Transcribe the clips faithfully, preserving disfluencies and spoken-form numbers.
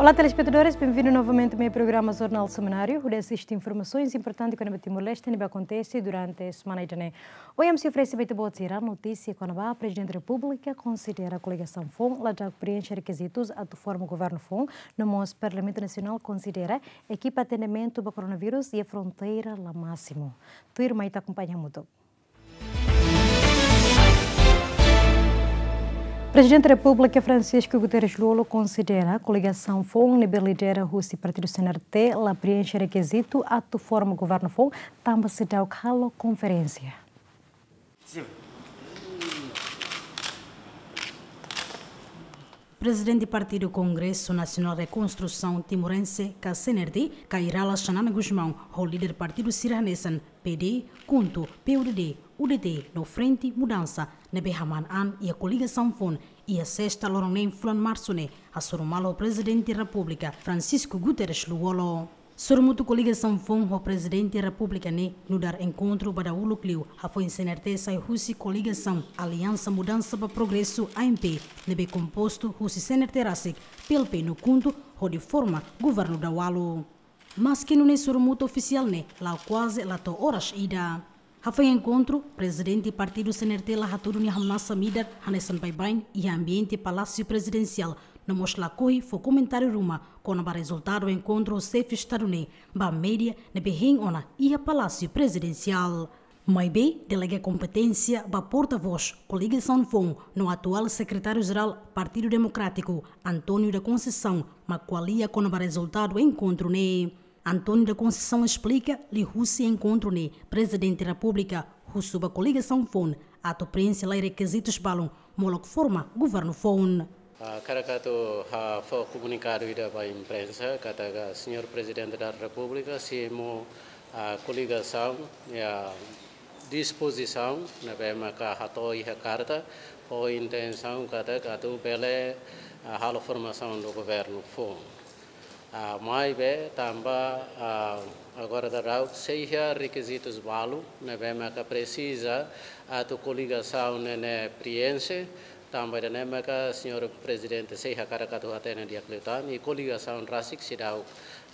Olá, telespetadores, benvindu novamente ao meu programa Jornal Semanáriu, hodi asiste informasoens importantes kona-ba Timor-Leste ne'ebé akontese durante semana ida-ne'e. Ohin ami sei oferese ba ita-boot sira notísia kona-ba Prezidente Repúblika konsidera koligasaun foun la daudauk preenxe rekizitus atu forma governu foun, no mós Parlamentu Nasionál konsidera ekipa atendimentu ba koronavírus iha fronteira la másimu. Tuirmai ita akompaña hamutuk. Prezidente Repúblika Francisco Guterres Lú-Olo konsidera koligasaun foun ne'ebé lidera husi partidu C N R T la preenxe rekizitu atu forma governu foun, tanba seidauk halo konferénsia. Prezidente Partidu Kongresu Nasionál Rekonstrusaun Timorense, ka C N R T, Kay Rala Xanana Gusmão, ho líder partidu sira hanesan P D, KHUNTO, P U D D, U D T, no Frente Mudansa, ne'ebé hamaan an iha koligasaun foun, iha sesta loron neen fulan Marsu ne'e, hasoru malu ho Prezidente Repúblika, Francisco Guterres Lú-Olo. Sorumutu koligasaun foun ho Prezidente Repúblika ne'e nu'udar enkontru ba dahuluk liu, hafoin C N R T sai husi koligasaun Aliansa Mudansa ba Progresu, A M P, ne'ebé kompostu husi C N R T rasik, P L P no KHUNTO, hodi forma governu dawalu. Maski nune'e sorumutu ofisiál ne'e la'o kuaze la to'o oras ida. Hafoin enkontru, Prezidente Partidu C N R T la hatudu nia hamnasa midar hanesan baibain iha ambiente Palásiu Prezidensiál, no mós lakohi fó komentáriu ruma kona-ba rezultadu enkontru xefe Estadu ne'e ba média ne'ebé hein ona iha Palásiu Prezidensiál. Maibé, delega kompeténsia ba portavós koligasaun foun no atuál Sekretáriu-Jerál Partidu Demokrátiku, António da Conceição, mak ko'alia kona-ba rezultadu enkontru ne'e. António da Conceição esplika, liuhusi enkontru ne'e, Prezidente Repúblika husu ba koligasaun foun atu preenxe lai rekizitus balun, molok forma governu foun. Ah, hakarak atu, ah, fó komunikadu ida ba imprensa, katak Señór Prezidente da Repúblika simu, ah, koligasaun, ya, dispozisaun ne'ebé maka hato'o iha karta, ho intensaun katak atu bele, ah, halo formasaun do governu foun. Ah, maibé tanba, ah, agora daudaun sei iha rekizitus balu ne'ebé maka presiza atu koligasaun ne'e, ne'e preenxe, tanba ida-ne'e maka Señór Prezidente sei hakarak atu hatene di'ak liután, i koligasaun rasik seidauk,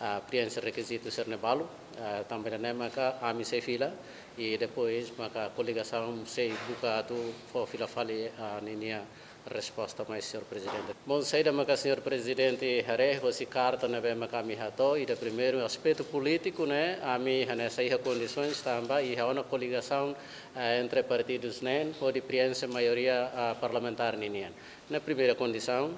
ah, preenxe rekizitu sira-ne'e balu, ah, tanba ida-ne'e maka ami sei fila, i depois maka koligasaun sei buka atu fó fila fali, ah, ninia resposta mai Señór Prezidente. Bom, saida maka Señór Prezidente haree hosi karta ne'ebé maka ami hato'o, ida primeiru aspetu polítiku ne'e, ami hanesan iha kondisoens tanba iha ona koligasaun, eh, entre partidus neen, hodi preenxe maioria, ah, parlamentár ninian. Ne'e primeira kondisaun.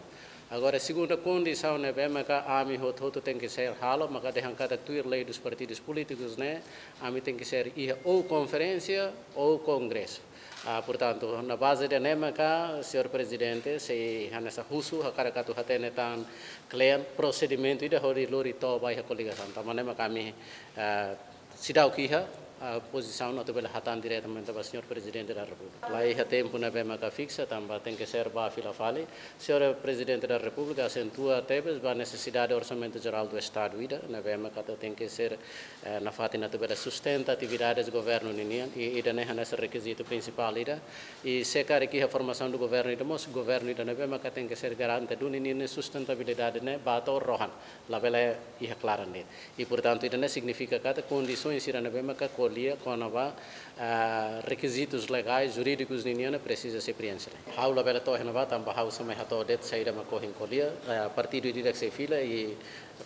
Agora, segunda kondisaun ne'ebé maka ami hotu-hotu tenke ser halo, maka dehan katak tuir lei dos partidos políticos ne'e, ami tenke ser iha ou konferénsia ou kongresu. Ah, portantu, na baze ida-ne'e maka, Señór Prezidente, sei hanesan husu, hakarak atu hatene tan kle'an prosedimentu ida hodi lori to'o ba iha koligasaun. Tanba ne'e maka ami, ah, seidauk iha, ah, pozisaun atu bele hatán diretamente ba Señór Prezidente da Repúblika. La iha tempu ne'ebé maka fiksa, tanba tenke ser ba fila fali. Señór Prezidente da Repúblika asentua tebes ba nesesidade orsamentu jerál do Estadu ida, ne'ebé maka tenke ser, eh, nafatin atu bele sustenta atividades governu ninian, i ida-ne'e hanesan rekizitu prinsipál ida. I se karik iha formasaun do governu ida mós, governu ida ne'ebé maka tenke ser garante duni ninia sustentabilidade ne'e ba to'o rohan, labele iha klaran de'it. I, portantu, ida-ne'e signifika katak kondisoens sira ne'ebé maka ko'alia kona-ba, ah, rekizitus legais, jurídikus ninian ne'e presiza sei preenxe. Ha'u labele to'o iha ne'ebá, tanba ha'u sei mai hato'o de'it saida mak ohin ko'alia, ah, partidu ida-idak sei fila i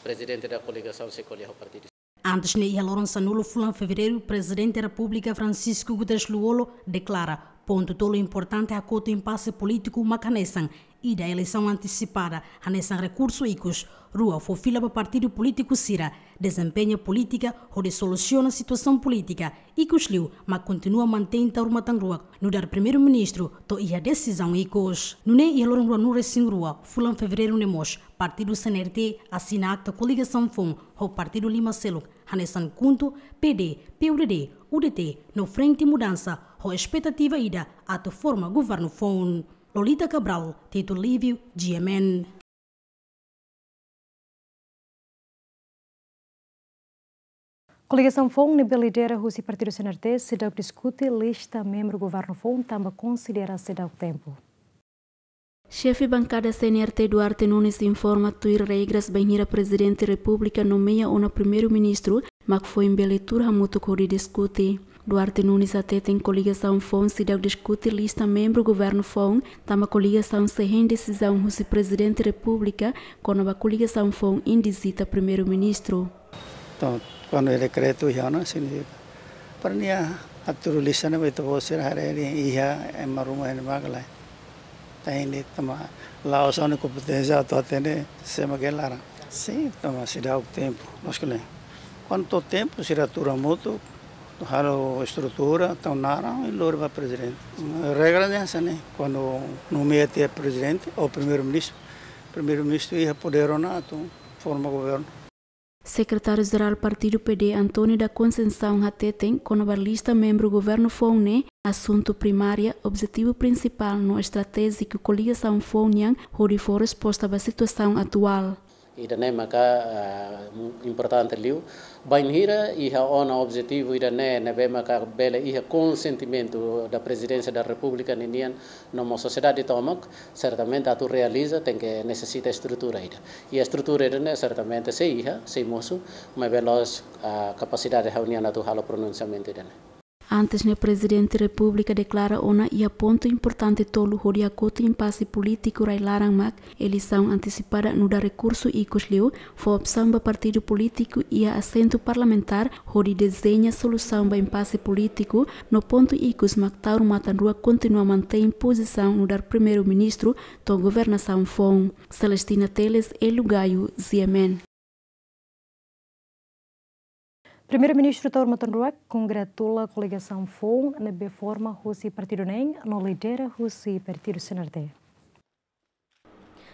prezidente da koligasaun sei ko'alia ho partidu. Antes ne'e, iha loron sanulu fulan Fevereiru, Prezidente Repúblika Francisco Guterres Lú-Olo deklara pontu tolu importante hakotu impase polítiku mak hanesan: ida, eleisaun antesipada hanesan rekursu ikus; rua, fó fila ba partidu polítiku sira dezempeña polítika hodi solusiona situasaun polítika; ikusliu, mak kontinua mantein taur-matan-ruak nu'udar Primeiru-Ministru to'o iha desizaun ikus. Nune'e, iha loron ruanulu-resin-rua fulan Fevereiru ne'e mós, partidu C N R T asina akta koligasaun foun ho partidu lima seluk, hanesan KHUNTO, P D, P U D D, U D T no Frente Mudansa, ho espetativa ida atu forma governu foun. Lolita Cabral, Tito Lívio, G M N. Koligasaun foun ne'ebé lidera husi partidu C N R T seidauk diskute lista membru governu foun tanba konsidera seidauk tempu. Xefe bankada C N R T Duarte Nunes informa tuir regras bainhira Prezidente Repúblika nomeia ona Primeiru-Ministru, mak foin bele tuur hamutuk hodi diskute. Duarte Nunes hateten koligasaun foun seidauk diskute lista membru governu foun, tanba koligasaun sei hein desizaun husi Prezidente Repúblika kona-ba koligasaun foun indizita Primeiru-Ministru. Entaun, kuandu dekretu iha ona, signifika para nia hatudu lista ne'ebé ita-boot sira haree dehan iha ema ruma iha ne'ebá ka lae. Entaun, tanba la'ós ha'u-nia kompeténsia atu hatene sé mak iha laran. Sin, tanba seidauk tempu, maske ne'e. Kuandu to'o tempu, sira tuur hamutuk, halo estrutura, tau naran, i lori ba Prezidente. Regra ne'e hanesan ne'e, kuandu nomeia tiha Prezidente ou Primeiru-Ministru, Primeiru-Ministru iha podér ona atu forma governu. Sekretáriu-Jerál Partidu P D, António da Conceição hateten, kona-ba lista membru governu foun ne'e, asuntu primária, objetivu prinsipál no estratéjiku koligasaun foun nian hodi fó resposta ba situasaun atuál. Ida-ne'e maka, ah, importante liu. Bainhira iha ona objetivu ida-ne'e, ne'ebé maka bele iha konsentimentu da Prezidénsia da Repúblika ninian, no mós sosiedade tomak, sertamente atu realiza tenke nesesita estrutura ida. I estrutura ida-ne'e sertamente sei iha, sei mosu, maibé la'ós, ah, kapasidade ha'u-nian atu halo pronunsiamentu ida-ne'e. Antes ne'e Prezidente Repúblika deklara ona iha pontu importante tolu hodi hakotu impase polítiku rai-laran mak eleisaun antesipada nu'udar rekursu ikus liu, fó opsaun ba partidu polítiku iha asentu parlamentár hodi dezeña solusaun ba impase polítiku, no pontu ikus mak Taur Matan Ruak kontinua mantein pozisaun nu'udar Primeiru-Ministru to'o governasaun foun. Celestina Teles, Hélio Gaio, G M N. Primeiru-Ministru Taur Matan Ruak kongratula koligasaun foun ne'ebé forma husi partidu neen no lidera husi partidu C N R T.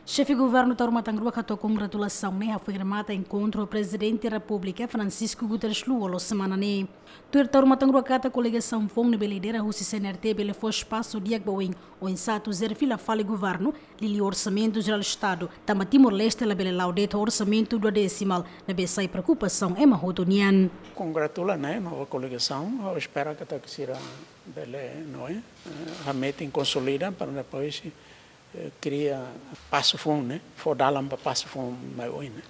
Xefe Governu Taur Matan Ruak hato'o kongratulasaun ne'e hafoin remata enkontru ho Prezidente Repúblika Francisco Guterres Lú loron semana ne'e. Tuir Taur Matan Ruak katak koligasaun foun ne'ebé lidera husi C N R T bele fó espasu di'ak ba oin, oinsá atu jere fila fali governu, liuliu Orsamentu Jerál Estadu, tanba Timor-Leste labele la'o de'it ho orsamentu duodesimál, ne'ebé sai preokupasaun ema hotu nian. Kongratula ne'e nova koligasaun, ha'u espera katak sira bele, não é? Eh, hametin konsolida para depois, eh, kria pasu foun, ne'e? Fó dalan ba pasu foun mai oin, ne'e?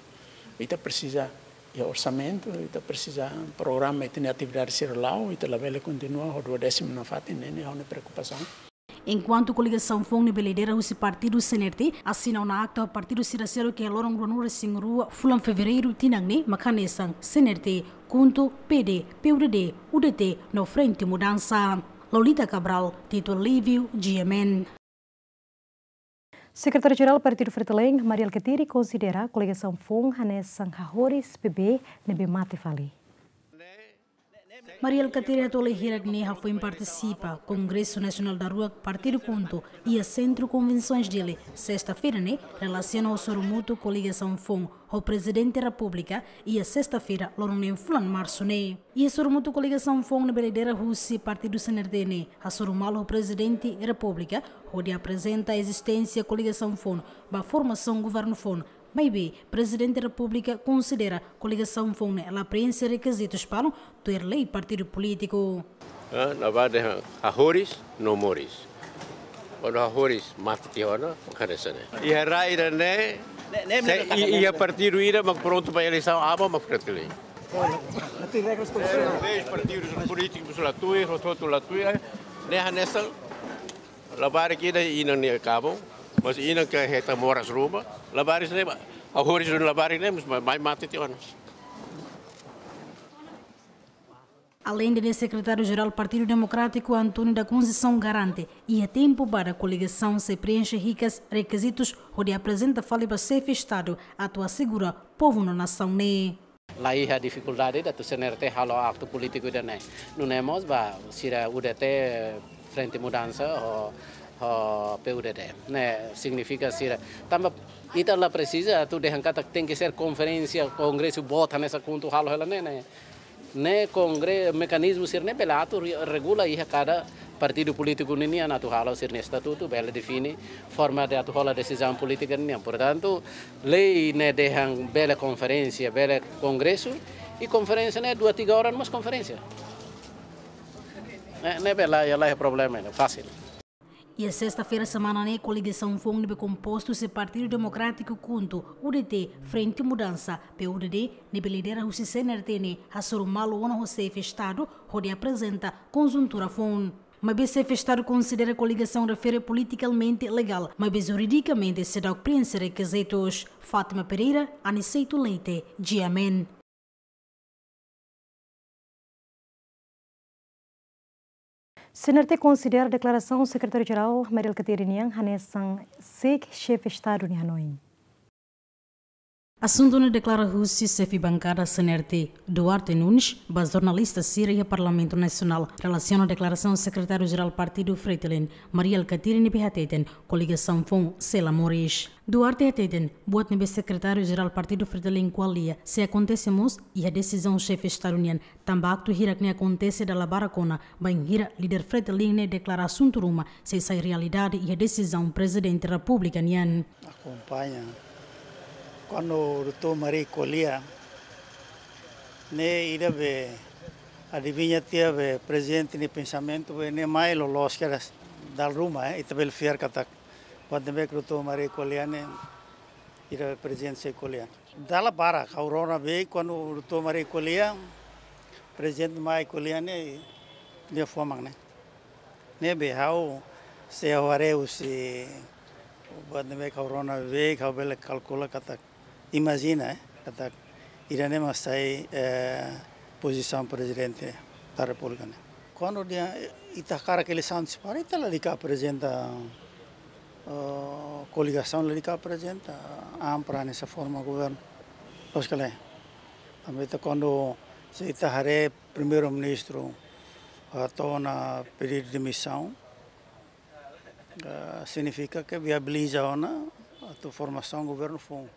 Ita presiza iha orsamentu, ita presiza programa, ita-nia atividade sira la'o, ita labele kontinua ho duodésimu nafatin, ne'e, ne'e ha'u-nia preokupasaun. Enkuantu koligasaun foun ne'ebé lidera husi partidu C N R T asina ona akta ho partidu sira seluk iha loron ruanulu-resin-rua fulan Fevereiru tinan ne'e mak hanesan C N R T, KHUNTO, P D, P U D D, U D T no Frente Mudansa. Lolita Cabral, Tito Lívio, G M N. Sekretáriu-Jerál Partidu Fretilin, Mari Alkatiri, konsidera koligasaun foun hanesan hahoris bebé ne'ebé mate fali. Mari Alkatiri hato'o hirak-ne'e hafoin partisipa Kongresu Nasionál daruak Partidu KHUNTO iha Sentru Konvensoens Dili, sesta-feira ne'e, relasiona ho sorumutu koligasaun foun ho Prezidente Repúblika iha sesta-feira, loron neen fulan Marsu ne'e. Iha sorumutu koligasaun foun ne'ebé lidera husi partidu C N R T ne'e hasoru malu ho Prezidente Repúblika hodi aprezenta ezisténsia koligasaun foun ba formasaun governu foun, maibé Prezidente Repúblika konsidera koligasaun foun ne'e la preenxe rekizitus balun tuir lei partidu polítiku. Ah, ne'ebé dehan hahoris no moris. Kuandu hahoris mate tiha ona, mak hanesan ne'e. Iha rai ida-ne'e, ne'e, ne'e, se, ne'e, i-, ne'e, iha ne'e partidu ida mak prontu ba eleisaun, aban mak Fretilin. Tem regras para isso. Eh, leis, partidu polítiku la tuir, hotu-hotu la tuir, eh, ne'e hanesan labarik ida inan nia kabun, mas inan ke hetan moras ruma, labarik ne'e ba, hahoris labarik ne'e, mas mai, mai mate tiha ona. Aleinde ne'e, Sekretáriu-Jerál Partidu Demokrátiku, António da Conceição, garante iha tempu badak koligasaun sei preenxe hikas rekizitus hodi aprezenta fali ba Xefe Estadu atu asegura povu no nasaun ne'e. La iha difikuldade ida atu C N R T halo aktu polítiku ida-ne'e. Nune'e mós ba sira U D T, Frente Mudansa ho, ho P U D D. Ne'e signifika sira. Tanba ita la presiza atu dehan katak tenke ser konferénsia, kongresu, boot hanesan KHUNTO halo hela ne'e, ne'e. Ne'e kongre-, mekanizmu sira-ne'e bele atu re-, regula iha kada partidu polítiku ninian atu halo sira-nia estatutu, bele define forma de atu hola desizaun polítika ninian. Portantu, lei ne'e dehan bele konferénsia, bele kongresu, i konferénsia ne'e dua tiga orang mós konferénsia. Ne'e, ne'e bele, la iha problema ne'e, fasil. Iha sesta-feira semana ne'e, koligasaun foun ne'ebé kompostu husi Partidu Demokrátiku KHUNTO, U D T, Frente Mudança, P U D D, ne'ebé lidera husi C N R T ne'e, hasoru malu ona ho Xefe Estadu, hodi aprezenta konjuntura foun. Maibé Xefe Estadu konsidera koligasaun refere politikalmente legál, maibé juridikamente seidauk prienxe rekizitus. Fátima Pereira, Aniceto Leite, G M N. C N R T konsidera deklarasaun Sekretáriu-Jerál Mari Alkatiri nian hanesan seik Xefe Estadu nia hanoin. Asuntu ne'e deklara husi xefe bankada C N R T, Duarte Nunes, ba jornalista sira iha Parlamentu Nasionál, relasiona deklarasaun Sekretáriu-Jerál Partidu Fretilin, Mari Alkatiri ne'ebé hateten koligasaun foun sei la moris. Duarte hateten, buat ne'ebé Sekretáriu-Jerál Partidu Fretilin ko'alia sei akontese mós iha desizaun Xefe Estadu nian, tanba aktu hirak ne'e akontese dala barak ona, bainhira líder Fretilin ne'e deklara asuntu ruma sei sai realidade iha desizaun Prezidente Repúblika nian. Akompaña. Kuandu doutór Mari ko'alia, ne'e ida be adiviña tiha be Prezidente nia pensamentu be ne'e mai loloos kedas dala ruma, eh, ita bele fiar katak buat ne'ebé ke doutór Mari ko'alia ne'e ida be Prezidente sei ko'alia. Dala barak, ha'u rona be kuandu doutór Mari ko'alia, Prezidente mai ko'alia ne'e, nia fó mak ne'e. Ne'ebé ha'u sei haree husi buat ne'ebé ha'u rona be, ha'u bele kalkula katak, imajina, eh, katak ida-ne'e mak sai, eh, pozisaun Prezidente da Repúblika ne'e. Kuandu dehan, eh, ita hakarak eleisaun antesipada, ita lalika aprezenta, eh, koligasaun lalika aprezenta, ampra hanesan forma governu. Loos ka lae? Tanba ita kuandu, se ita haree Primeiru-Ministru, ah, hato'o ona pedidu demisaun, ah, signifika ke viabiliza ona atu formasaun governu foun.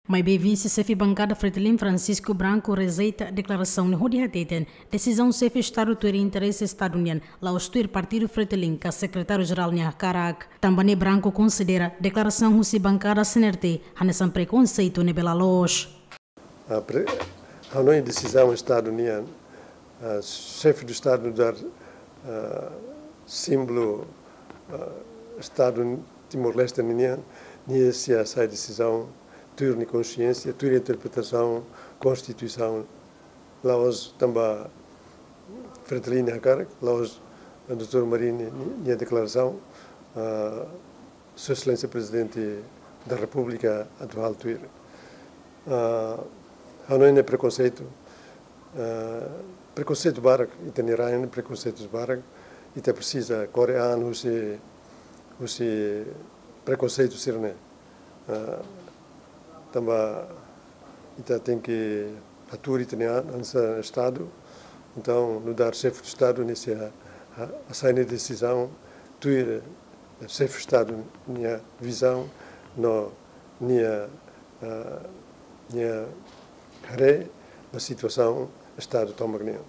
Maibé vise xefe bankada Fretilin Francisco Branco rejeita deklarasaun ne'e hodi hateten desizaun Xefe Estadu tuir interese Estadu nian, la'ós tuir Partidu Fretilin ka Sekretáriu-Jerál nia hakarak. Tanba ne'e Branco konsidera deklarasaun husi bankada C N R T hanesan prekonseitu ne'ebé la loos. Ah, pre-, hanoin desizaun Estadu nian, ah, Xefe do Estadu nu'udar, ah, símbolu, ah, Estadu Timor-Leste ninian, nia sei hasai desizaun tuir nia konxiénsia, tuir interpretasaun Konstituisaun, la'ós tanba Fretilin nia hakarak, la'ós doutór Mari nia, nia deklarasaun, ah, Sua Exelénsia Prezidente da Repúblika atu halo tuir. Ah, hanoin ne'e prekonseitu, ah, prekonseitu barak, ita-nia rain prekonseitus barak, ita presiza kore an husi, husi prekonseitu sira-ne'e. Ah, tanba ita tenke hatuur ita-nia an hanesan Estadu. Entaun, nu'udar Xefe do Estadu, nia sei ha-, ha-, hasai nia desizaun tuir, eh, Xefe Estadu nia vizaun no nia, ah, nia haree ba situasaun Estadu tomak nian.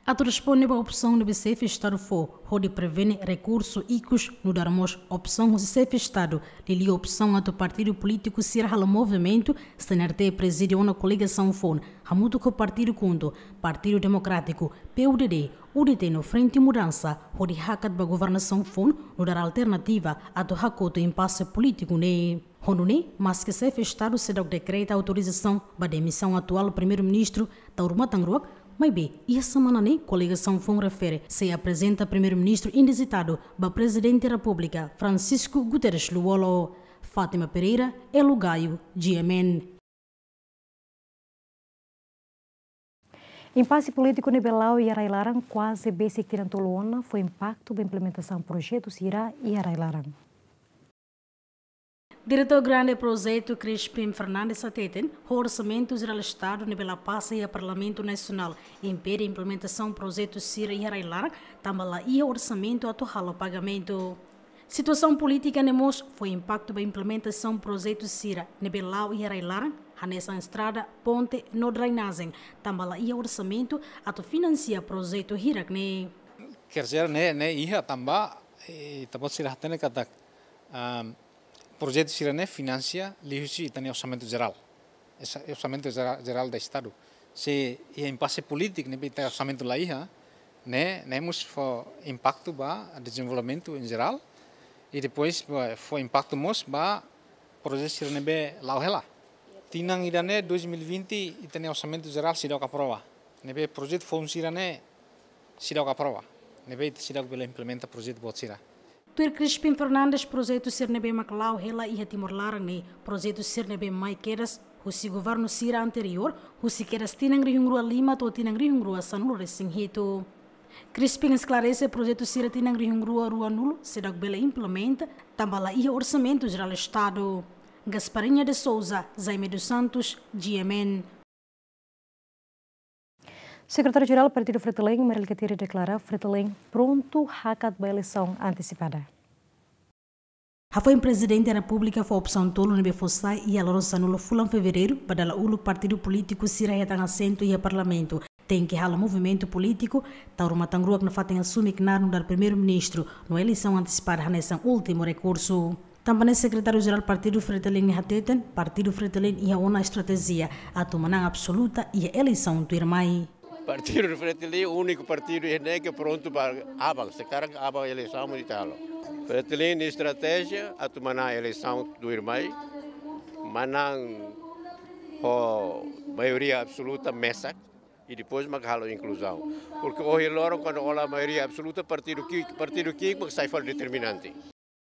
Atu responde ba opsaun ne'ebé Xefe Estadu fó hodi prevene rekursu ikus, nu'udar mós opsaun husi Xefe Estadu, liuliu opsaun atu partidu polítiku sira halo movimentu, C N R T prezide ona koligasaun foun, hamutuk ho Partidu KHUNTO, Partidu Demokrátiku, P U D D, U D T no Frente Mudança, hodi hakat ba governasaun foun, nu'udar alternativa atu hakotu impase polítiku ne'e. Ho nune'e, maske Xefe Estadu seidauk dekreta autorizasaun ba demisaun atuál Primeiru-Ministru Taur Matan Ruak, maibé iha semana ne'e koligasaun foun refere sei aprezenta Primeiru-Ministru indizitadu ba Prezidente Repúblika Francisco Guterres Lú-Olo. Fátima Pereira, Elo Gaio, G M N. Impase polítiku ne'ebé la'o iha rai-laran kuaze besik tinan tolu ona fó impaktu ba implementasaun projetu sira iha rai-laran. Diretór Grande Projetu Crispin Fernandes hateten, orsamentu jerál Estadu ne'ebé la pasa iha Parlamentu Nasionál impede implementasaun projetu sira iha rai-laran, tanba la iha orsamentu atu halo pagamentu. Situasaun polítika ne'e mós fó impaktu ba implementasaun projetu sira ne'ebé la'o iha rai-laran, hanesan estrada, ponte no drenajen, tanba la iha orsamentu atu finansia projetu hirak ne'e. Kerja ne'e, ne'e iha tanba, eh, ita-boot sira hatene katak, ah, projetu sira-ne'e finansia liuhusi ita-nia orsamentu jerál. Esa-, orsamentu jera-, jerál do Estadu. Se iha impase polítiku ne'ebé ita orsamentu la iha, ne'e, ne'e mós fó impaktu ba dezenvolvimentu em geral, I depois, eh, fó impaktu mós ba projetu sira ne'ebé la'o hela. Tinan ida-ne'e dois mil e vinte ita-nia orsamentu jerál seidauk aprova. Ne'ebé projetu foun sira-ne'e seidauk aprova. Ne'ebé ita seidauk bele implementa projetu boot sira. Tuir Crispin Fernandes, projetu sira ne'ebé mak la'o hela iha Timor laran ne'e projetu sira ne'ebé mai kedas husi governu sira anteriór, husi kedas tinan rihun rua lima to'o tinan rihun rua sanulu-resin-hitu. Crispin esklarese projetu sira tinan rihun rua ruanulu seidauk bele implementa, tanba la iha orsamentu jerál Estadu. Gasparinha de Souza, Jaime dos Santos, G M N. Sekretáriu-Jerál Partidu Fretilin, Mari Alkatiri, deklara Fretilin prontu hakat ba eleisaun antesipada. Hafoin Prezidente Repúblika fó opsaun tolu ne'ebé fó sai iha loron sanulu fulan Fevereiru, ba dala uluk partidu polítiku sira hetan asentu iha Parlamentu, tenke halo movimentu polítiku, tau ruma tangruak nafatin asume knaar nu'udar Primeiru-Ministru, no eleisaun antesipada hanesan últimu rekursu. Tanba ne'e Sekretáriu-Jerál Partidu Fretilin ne'e hateten, Partidu Fretilin iha ona estratéjia atu manán absoluta iha eleisaun tuirmai. Partidu Fretilin úniku partidu iha ne'e ke prontu ba aban, sekarang aban eleisaun mós ita halo. Fretilin nia estratéjia atu manán eleisaun tuirmai, manán ho maioria absoluta mesak, i depois mak halo inkluzaun. Porke ohin loron kuandu ó la maioria absoluta, partidu ki'ik, partidu ki'ik mak sai fali determinante.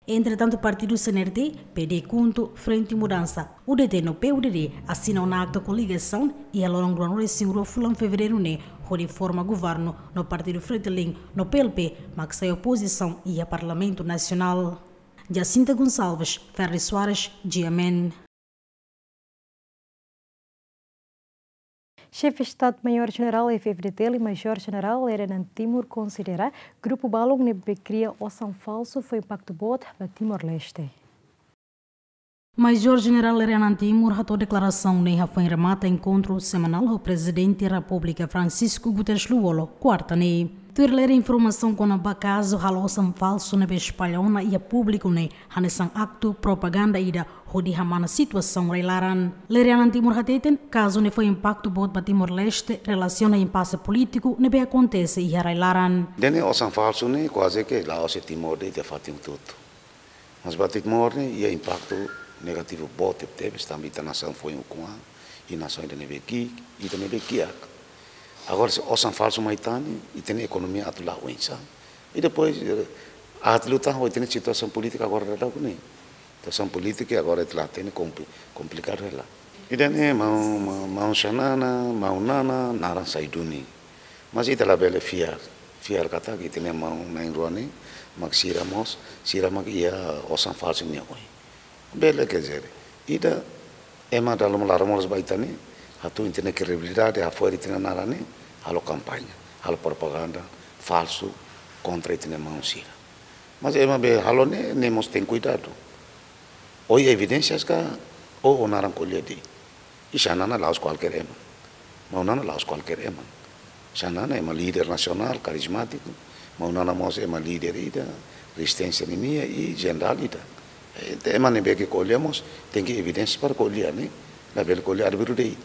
Entretantu, partidu C N R T, P D KHUNTO, Frente Mudansa, U D T no P U D D asina ona akta koligasaun iha loron ruanulu-resin-rua fulan Fevereiru ne'e hodi forma governu no Partidu Fretilin no P L P mak sai opozisaun iha Parlamentu Nasionál. Jacinta Gonçalves, Ferri Soares, G M N. Xefe Estadu-Maiór Jenerál F-FDTL, Majór Jenerál Lere Anan Timur, konsidera grupu balun ne'ebé kria osan falsu fó impaktu boot ba Timor-Leste. Majór Jenerál Lere Anan Timur hato'o deklarasaun ne'e hafoin remata enkontru semanál ho Prezidente Repúblika Francisco Guterres Lú-Olo, kuarta ne'e. Tuir Lere, informasaun kona-ba kazu halo osan falsu ne'ebé espalla ona iha públiku ne'e hanesan aktu propaganda ida hodi hamana situasaun rai-laran. Lere Anan Timur hateten, kazu ne'e fó impaktu boot ba Timor-Leste relasiona impase polítiku ne'ebé akontese iha rai-laran. Ida-ne'e osan falsu ne'e kuaze ke la'ós iha Timor de'it, iha fatin hotu-hotu. Mas ba Timor ne'e iha impaktu negativu boot tebetebes, tanba ita nasaun foin ukun-an, i nasaun ida ne'ebé ki'ik, ita ne'ebé kiak. Agora, se osan falsu mai tan ne'e, ita-nia ekonomia atu la'o oinsá? I depois, eh, atu liután ho ita-nia situasaun polítika agora daudaun ne'e. Situasaun polítika agora ita la hatene, kompli-, komplikadu hela. Ida-ne'e maun, maun, maun Xanana, maun Nana, naran sai duni. Mas ita labele fiar, fiar katak ita-nia maun na'in-rua ne'e, mak sira mós, sira mak iha osan falsu nia oin. Bele, quer dizer, ida ema dala ruma laran moras ba ita ne'e, atu ita-nia kredibilidade, hafo'er ita-nia naran ne'e, halo kampaña, halo propaganda falsu kontra ita-nia maun sira. Mas ema be halo ne'e, ne'e mós tenke kuidadu. Ó iha evidénsias ka, ó, ó naran ko'alia de'it. I Xanana la'ós kualkér ema. Maun Nana la'ós kualkér ema. Xanana ema líder nasionál, karizmátiku. Maun Nana mós ema líder ida, rezisténsia ninia i jenerál ida. Eh, ema ne'ebé ke ko'alia mós tenke evidénsia para ko'alia, ne'e. Labele ko'alia arbiru de'it.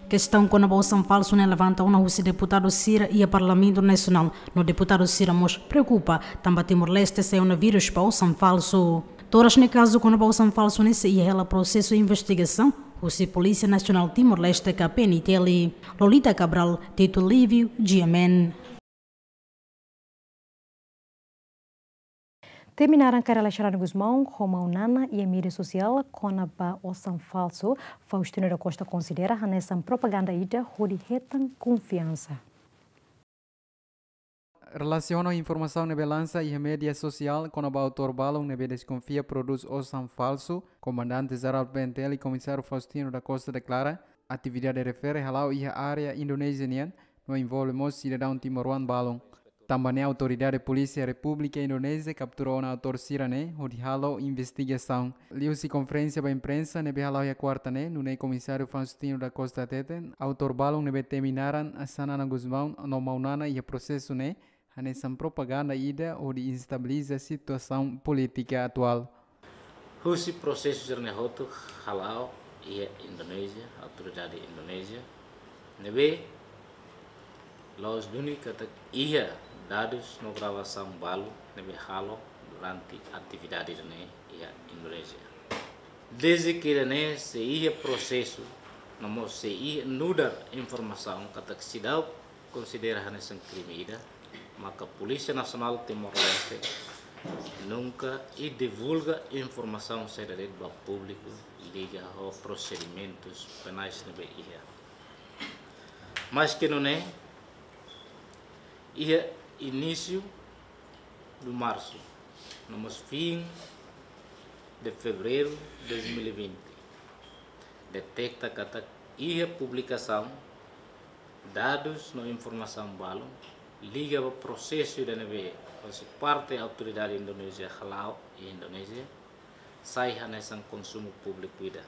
Kestaun kona-ba osan falsu ne'e levanta ona husi deputadu sira iha Parlamentu Nasionál, no deputadu sira mós preokupa, tanba Timor-Leste sai ona vírus ba osan falsu. Toras ne'e kazu kona-ba osan falsu ne'e sei iha hela prosesu investigasaun husi Polísia Nasionál Timor-Leste ka P N T L. Lolita Cabral, Tito Livio, G M N. Temi naran Carla Xanana Gusmão ho maun Nana iha média sosiál kona-ba osan falsu, Faustino da Costa konsidera hanesan propaganda ida hodi hetan konfiansa. Relasiona informasaun ne'ebé lansa iha média sosiál kona-ba autór balun ne'ebé deskonfia prodús osan falsu, Komandante Jerál P N T L, Komisáriu Faustino da Costa deklara, atividade refere hala'o iha área Indonézia nian, no envolve mós sidadaun timoroan balun. Tanba ne'e Autoridade Polísia Repúblika Indonézia kaptura ona autór sira-ne'e hodi halo investigasaun. Liuhusi konferénsia ba imprensa ne'ebé hala'o iha kuarta ne'e, nune'e Komisáriu Faustino da Costa hateten, autór balun ne'ebé temi naran Xanana Gusmão no maun Nana iha prosesu ne'e hanesan propaganda ida hodi estabiliza situasaun polítika atuál. Husi prosesu sira-ne'e hotu hala'o iha Indonézia, autoridade Indonézia, ne'ebé la'ós duni katak iha dadus no gravasaun balu ne'ebé halo durante atividade ne'e iha Indonézia. Dezde ida-ne'e sei iha prosesu, no mós sei iha nu'udar informasaun katak seidauk konsidera hanesan krime ida, maka Polísia Nasionál Timor-Leste nunka divulga informasaun saida de'it ba públiku liga ho prosedimentus penais ne'ebé iha. Maske nune'e, iha inísiu de março, no mós fim de fevereiro de dois mil e vinte, deteta katak iha publikasaun dadus no informasaun balun liga ba prosesu ida ne'ebé hosi parte autoridade Indonézia hala'o iha Indonézia, sai hanesan konsumu públiku ida.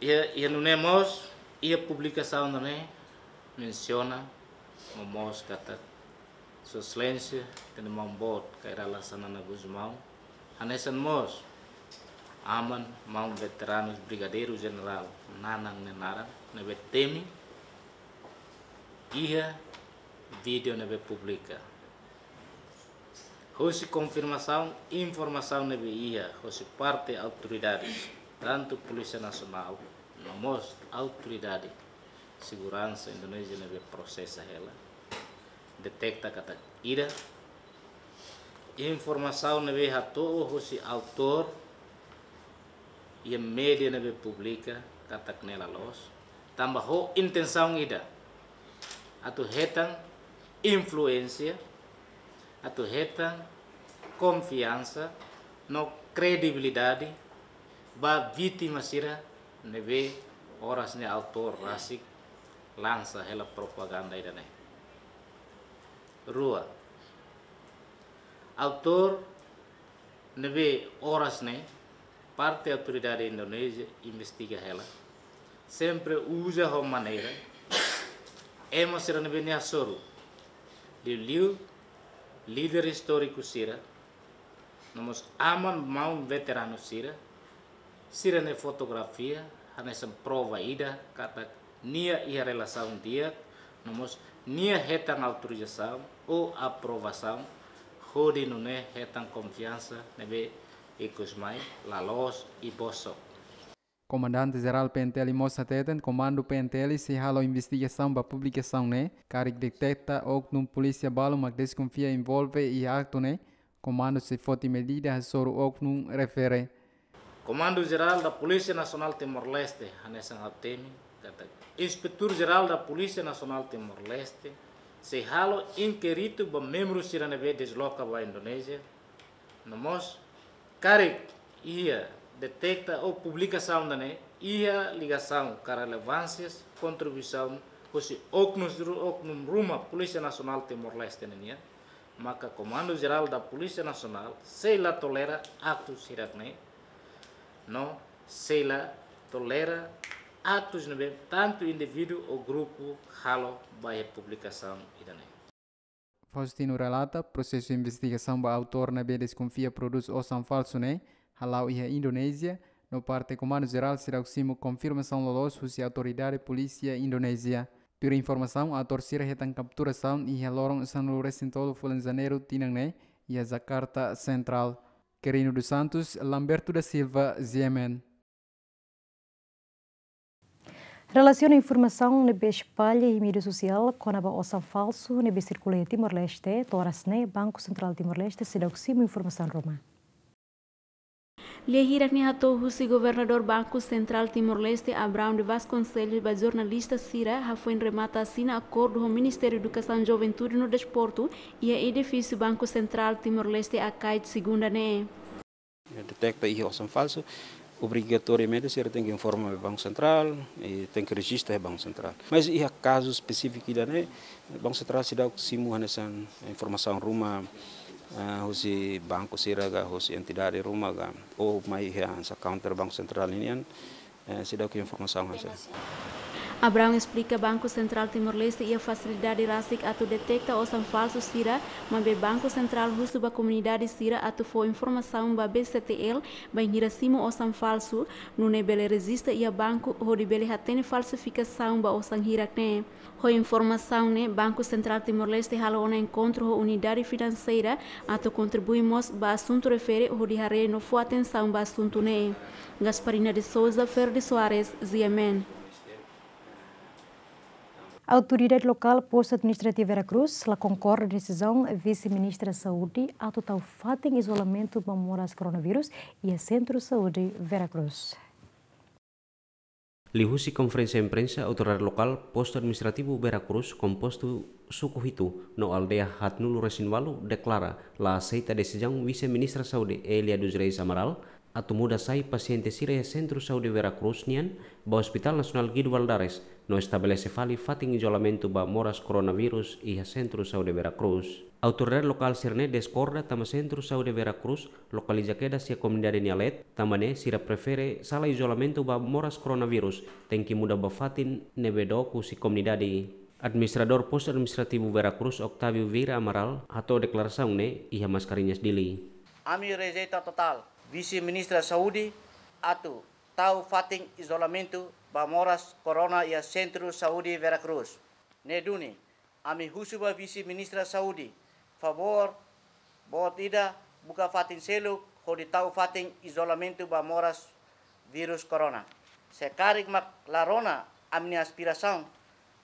Iha, iha nune'e mós, iha publikasaun ne'e mensiona no mós katak Sua Exelénsia Tenente Maun Boot Kay Rala Xanana Gusmão, hanesan mós aman maun veteranus Brigadeiru Jenerál Nanan nia naran ne'ebé temi, iha vídeo ne'ebé publika. Hosi konfirmasaun informasaun ne'ebé iha hosi parte autoridades, tantu Polísia Nasionál no mós autoridade seguransa Indonézia ne'ebé prosesa hela, deteta katak ida, informasaun ne'ebé hato'o hosi autór iha média ne'ebé publika katak ne'e la loos, tanba ho intensaun ida, atu hetan influénsia, atu hetan konfiansa no kredibilidade ba vítima sira ne'ebé oras ne'e autór rasik lansa hela propaganda ida-ne'e. Rua, autór ne'ebé oras ne'e parte autoridade Indonézia investiga hela, sempre uza ho maneira ema sira ne'ebé nia hasoru, liuliu líder istóriku sira, no mós aman maun veteranu sira, sira-nia fotografia hanesan prova ida katak nia iha relasaun di'ak, no mós nia hetan autorizasaun ou aprovasaun, hodi nune'e hetan konfiansa ne'ebé ikus mai la loos i bosok. Komandante Jerál P N T L mós hateten, Komandu P N T L sei halo investigasaun ba publikasaun ne'e, karik deteta oknum polísia balu mak deskonfia envolve iha aktu ne'e, komandu sei foti medida hasoru oknum refere. Comando-Geral da Polícia Nacional Timor-Leste hanesan ha'u temi katak Inspetór Jerál da Polísia Nasionál Timor-Leste sei halo inkéritu ba membru sira ne'ebé desloka ba Indonézia, no mós karik iha deteta ou publikasaun ida-ne'e iha ligasaun ka relevánsias kontribuisaun husi oknus ru-, oknum ruma Polísia Nasionál Timor-Leste ninian, maka Comando-Geral da Polícia Nacional sei la tolera aktus hirak-ne'e, no sei la tolera aktus ne'ebé tantu indivíduu ou grupu halo ba iha publikasaun ida-ne'e. Faustino relata, prosesu investigasaun ba autór ne'ebé deskonfia prodús osan falsu ne'e hala'o iha Indonézia, no parte Komandu-Jerál seidauk simu konfirmasaun loloos husi autoridade polísia Indonézia. Tuir informasaun, autór sira hetan kapturasaun iha loron sanulu-resin-tolu fulan Janeiru tinan ne'e, iha Jakarta Central. Quirino dos Santos, Lamberto da Silva, G M N. Relasiona informasaun ne'ebé espalla iha média sosiál kona-ba osan falsu ne'ebé sirkula iha Timor-Leste, to'o oras ne'e Banku Sentrál Timor-Leste seidauk simu informasaun ruma. Lia hirak-ne'e hato'o husi Governadór Banku Sentrál Timor-Leste, Abrão de Vasconcelos, ba jornalista sira, hafoin remata asina akordu ho Ministériu Edukasaun, Juventude no Desportu, iha edifísiu Banku Sentrál Timor-Leste, Akait, Segunda ne'e. Deteta iha osan falsu, obrigatoriamente sira tenke informa ba Banku Sentrál, i tenke rejista iha Banku Sentrál. Mas iha kazu espesífiku ida-ne'e, Banku Sentrál seidauk simu hanesan informasaun ruma, eh, husi banku sira ka, husi entidade ruma ka, ou mai iha hanesan counter Banku Sentrál ninian, eh, seidauk informasaun hanesan. Abraão esplika Banku Sentrál Timor-Leste iha fasilidade rasik atu deteta osan falsu sira, maibé Banku Sentrál husu ba komunidade sira atu fó informasaun ba B C T L bainhira simu osan falsu, nune'e bele rejista iha banku hodi bele hatene falsifikasaun ba osan hirak ne'e. Ho informasaun ne'e, Banku Sentrál Timor-Leste halo ona enkontru ho unidade finanseira atu kontribui mós ba asuntu refere hodi haree no fó atensaun ba asuntu ne'e. Gasparina de Souza, Ferdi Soares, G M N. Autoridade lokál Postu Administrativu Vera Cruz la konkorda desizaun Vise-Ministra Saúde atu tau fatin izolamentu ba moras koronavírus iha Sentru Saúde Vera Cruz. Liuhusi konferénsia imprensa, autoridade lokál Postu Administrativu Vera Cruz, kompostu suku hitu no aldeia haatnulu resin ualu, deklara la aseita desizaun Vise-Ministra Saúde Elia dos Reis Amaral atu muda sai pasiente sira iha Sentru Saúde Vera Cruz nian ba Hospital Nasionál Guido Valadares, no estabelese fali fatin izolamentu ba moras koronavírus iha Sentru Saúde Vera Cruz. Autoridade lokál sira-ne'e diskorda tanba Sentru Saúde Vera Cruz lokaliza kedas iha komunidade nia leet, tanba ne'e sira prefere sala izolamentu ba moras koronavírus tenke muda ba fatin ne'ebé dook husi komunidade. Administradór Postu Administrativu Vera Cruz, Octávio Vieira Amaral, hato'o deklarasaun ne'e iha Mascarenhas, Dili. Ami rejeita totál Vise-Ministra Saúde atu tau fatin izolamentu ba moras korona iha Sentru Saúde Vera Cruz. Ne'e duni, ami husu ba Vise-Ministra Saúde, favór, boot ida, buka fatin seluk hodi tau fatin izolamentu ba moras vírus korona. Se karik mak la rona ami-nia aspirasaun,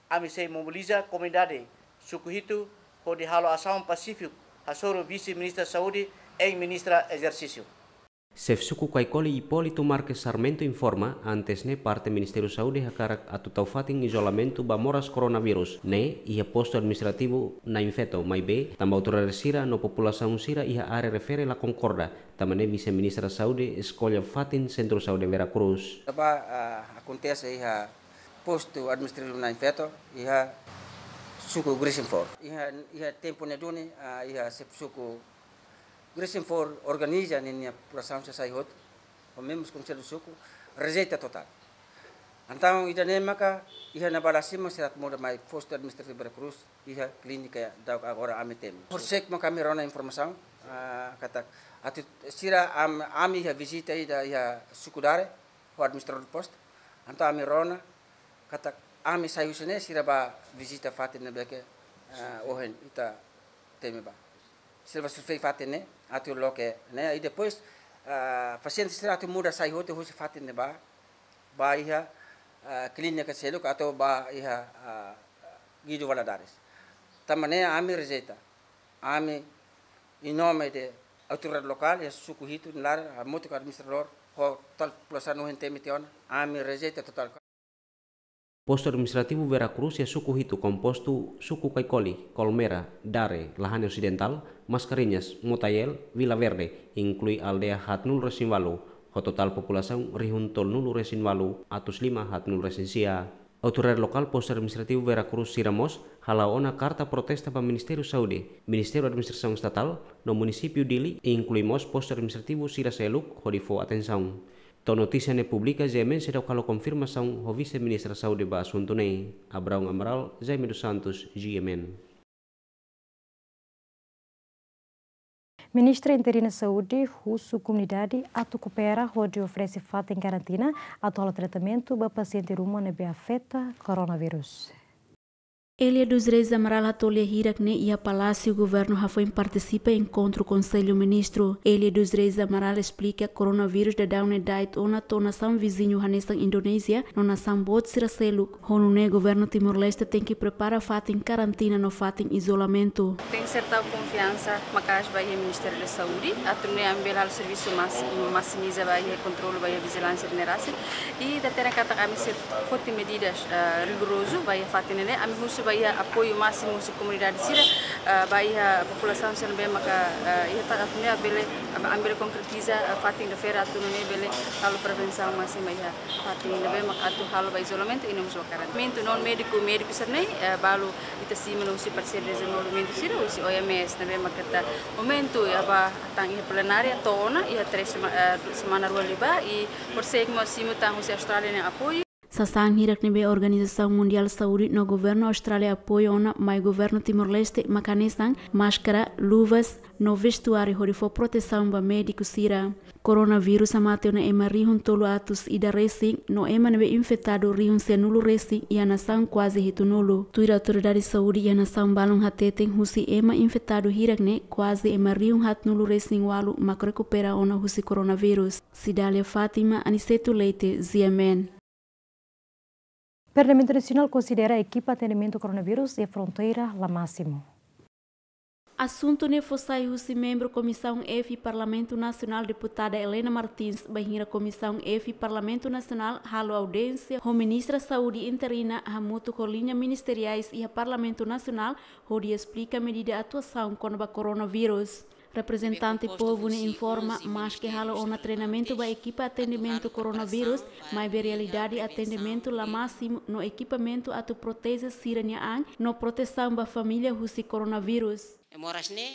ami sei mobiliza komunidade suku hitu hodi halo asaun pasífiku hasoru Vise-Ministra Saúde em Ministra Ezersísiu. Xefe suku Caicoli, Hipólito Marques Sarmento, informa, antes ne'e parte Ministériu Saúde hakarak atu tau fatin izolamentu ba moras koronavírus ne'e iha Postu Administrativu Nain Feto, maibé tanba autoridade sira no populasaun sira iha área refere la konkorda, tanba ne'e Vise-Ministra Saúde eskolla fatin Sentru Saúde Vera Cruz. Ba, ah, akontese iha Postu Administrativu Nain Feto, iha suku Grisinfor. Iha, iha tempu ne'e duni, ah, iha xefe suku Grisinfor organiza ninia populasaun sira sai hotu, ho membru Konsellu Suku, rejeita totál. Entaun, ida-ne'e maka iha ne'ebá la simu, sira muda mai Postu Administrativu Vera Cruz, iha klínika daudaun agora ami temi. Por sek maka ami rona informasaun, ah, katak atu sira am-, ami iha vizita ida iha suku Dare, ho administradór postu. Entaun ami rona katak ami sai husi ne'e sira bá vizita fatin ne'ebé ke, ah, ohin ita temi bá. Sira bá survei fatin ne'e, atu loke ne'e, i depois, ah, pasiente sira atu muda sai hotu husi fatin ne'ebá, bá iha, ah, klínika seluk atu bá iha, ah, Guido Valadares. Tanba ne'e ami rejeita. Ami, em nome de autoridade lokál, iha suku hitu nia laran, hamutuk ho administradór, ho totál populasaun no hentemi tiona, ami rejeita totál. Postu Administrativu Vera Cruz iha suku hitu kompostu suku Caicoli, Colmera, Dare, Lahane Osidentál, Mascarenhas, Motael, Vila Verde, inklui aldeia haatnulu resin ualu, ho totál populasaun rihun tolunulu resin ualu atus lima haatnulu resin sia. Autoridade lokál Postu Administrativu Vera Cruz sira mós hala'o ona karta protesta ba Ministériu Saúde, Ministériu Administrasaun Estatál, no Munisípiu Dili, inklui mós postu administrativu sira seluk hodi fó atensaun. To'o notísia ne'e publika, G M N seidauk halo konfirmasaun ho Vise-Ministra Saúde ba asuntu ne'e. Abraão Amaral, Jaime dos Santos, G M N. Ministra Interina Saúde husu komunidade atu koopera hodi oferese fatin karantina atu halo tratamentu ba pasiente ruma ne'ebé afeta koronavírus. Elia dos Reis Amaral hato'o lia hirak ne'e iha Palásiu Governu hafoin partisipa enkontru Konsellu Ministru. Elia dos Reis Amaral esplika koronavírus daudaun ne'e da'et ona to'o nasaun viziñu hanesan Indonézia no nasaun boot sira seluk. Ho nune'e Governu Timor-Leste tenke prepara fatin karantina no fatin izolamentu. Tenke ser tau konfiansa maka'as ba iha Ministériu da Saúde, atu nune'e ami bele halo servisu mas-, maksimiza ba iha kontrolu ba iha vijilánsia ne'e rasik. I ita hatene katak ami sei foti medidas, eh, rigorozu ba iha fatin ne'e, ami husu ba iha apoiu másimu husi komunidade sira, eh, ba iha populasaun sira ne'ebé maka, eh, iha fatin ne'e bele, ami bele konkretiza, eh, fatin refere atu nune'e bele halo prevensaun másimu ba iha fatin ne'ebé maka atu halo ba izolamentu i no mós ba karantina. Mentu non médiku, médiku sira-ne'e, eh, balu ita simu no husi parseiru dezenvolvimentu sira, husi O M S, ne'ebé maka ita momentu iha ba tan iha plenária to'o ona, iha três sema-, eh, semana rua liubá, i por sek mós simu tan husi Austrália nia apoiu. Sasán hirak ne'ebé Organizasaun Mundiál Saúde no Governu Austrália apoiu ona mai Governu Timor-Leste mak hanesan máskara, luvas no vestuáriu hodi fó protesaun ba médiku sira. Koronavírus hamate ona ema rihun tolu atus ida resin, no ema ne'ebé infetadu rihun sianulu resin iha nasaun kuaze hitunulu. Tuir autoridade saúde iha nasaun balun hateten husi ema infetadu hirak ne'e kuaze ema rihun haatnulu resin ualu mak rekupera ona husi koronavírus. Cidália Fátima, Aniceto Leite, G M N. Parlamentu Nasionál konsidera ekipa atendimentu koronavírus iha fronteira la másimu. Asuntu ne'e fó sai husi membru Komisaun F Parlamentu Nasionál, Deputada Helena Martins, bainhira Komisaun F Parlamentu Nasionál halo audiénsia ho Ministra Saúde interina hamutuk ho liña ministeriais iha Parlamentu Nasionál hodi esplika medida atuasaun kona-ba koronavírus. Reprezentante povu ne'e informa, maske halo ona treinamentu ba ekipa atendimentu koronavírus, maibé realidade atendimentu la másimu no ekipamentu atu proteje sira-nia an no protesaun ba família husi koronavírus. E moras ne'e,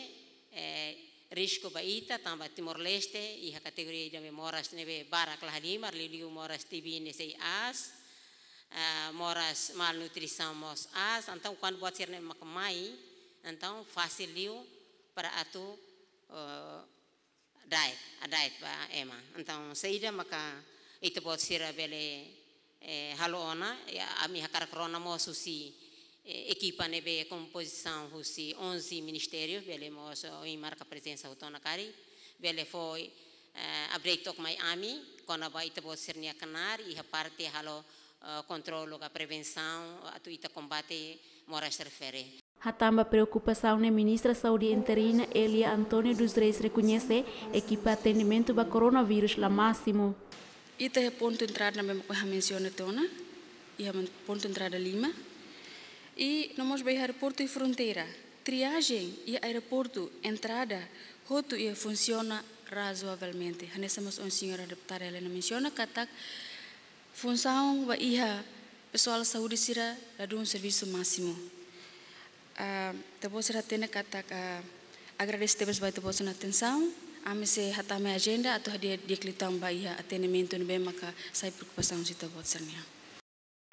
eh, risku ba ita, tanba Timor-Leste iha kategoria ida ne'ebé moras ne'ebé barak la halimar, liuliu moras T B ne'e sei aas, eh, moras malnutrisaun mós aas, entaun kuandu buat sira-ne'e mak mai, entaun fasil liu para atu, eh, da'et, da'et ba ema. Entaun saida maka ita-boot sira bele, eh, halo ona, ya, ami hakarak rona mós husi, eh, ekipa ne'ebé kompozisaun husi onze ministériu, bele mós, eh, ohin marka prezensa hotu ona karik, bele fó, eh, update took mai ami kona-ba ita-boot sira-nia knaar iha parte halo, eh, kontrolu ka prevensaun atu ita kombate moras refere. Hatán ba preokupasaun ne'e, Ministra Saúde interina Elia António dos Reis rekoñese ekipa atendimentu ba koronavírus la másimu. Ita iha pontu entrada ne'ebé mak ohin ha'u mensiona tiha ona, iha men-, pontu entrada lima. I no mós ba iha aeroportu i fronteira, triajen iha aeroportu, entrada, hotu iha funsiona razoavelmente. Hanesan mós ohin señora deputada Helena mensiona katak funsaun ba iha pesoál saúde sira ladún servisu másimu. Ah, ita-boot sira hatene katak, ah, agradese tebes ba ita-boot sira-nia atensaun. Ami sei hatama ajenda atu hadi'a di'ak liután ba iha atendimentu ne'ebé maka sai preokupasaun husi ita-boot sira-nian.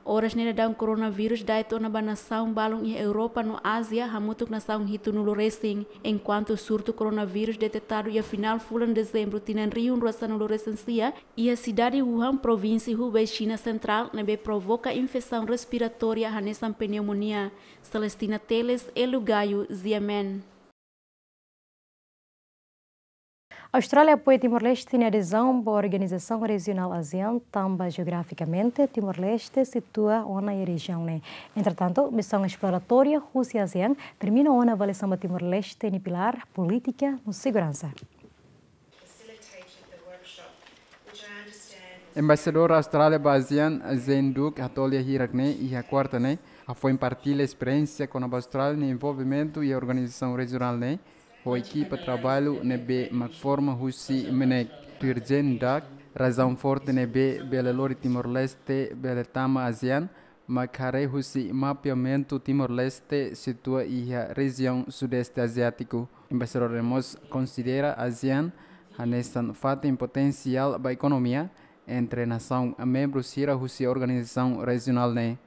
Oras ne'e daudaun koronavírus da'et ona ba nasaun balun iha Europa no Ázia, hamutuk nasaun hitunulu resin, enkuantu surtu koronavírus detetadu iha finál fulan Dezembru tinan rihun rua sanulu resin sia, iha sidade Wuhan, provínsia Hubei, Xina Sentrál, ne'ebé provoka infesaun respiratória hanesan pneumonia. Celestina Teles, Elu Gayo, G M N. Austrália apoia Timor-Leste nia adezaun ba organizasaun rejionál ASEAN, tanba jeografikamente Timor-Leste situa ona iha rejiaun ne'e. Entretantu, misaun esploratória husi ASEAN termina ona avaliasaun ba Timor-Leste nia pilár, polítika no seguransa. Embaixadór Austrália ba ASEAN, Zane Duke, hato'o lia hirak ne'e iha kuarta ne'e, hafoin partilla esperiénsia kona-ba Austrália nia envolvimentu iha organizasaun rejionál ne'e, ho ekipa traballu ne'ebé mak forma husi MNEK. Tuir Zane Duke, razaun forte ne'ebé bele lori Timor-Leste bele tama ASEAN, mak haree husi mapeamentu Timor-Leste situa iha rejiaun Sudeste Aziátiku. Embaixadór ne'e mós konsidera ASEAN hanesan fatin potensiál ba ekonomia entre nasaun membru sira husi organizasaun rejionál ne'e.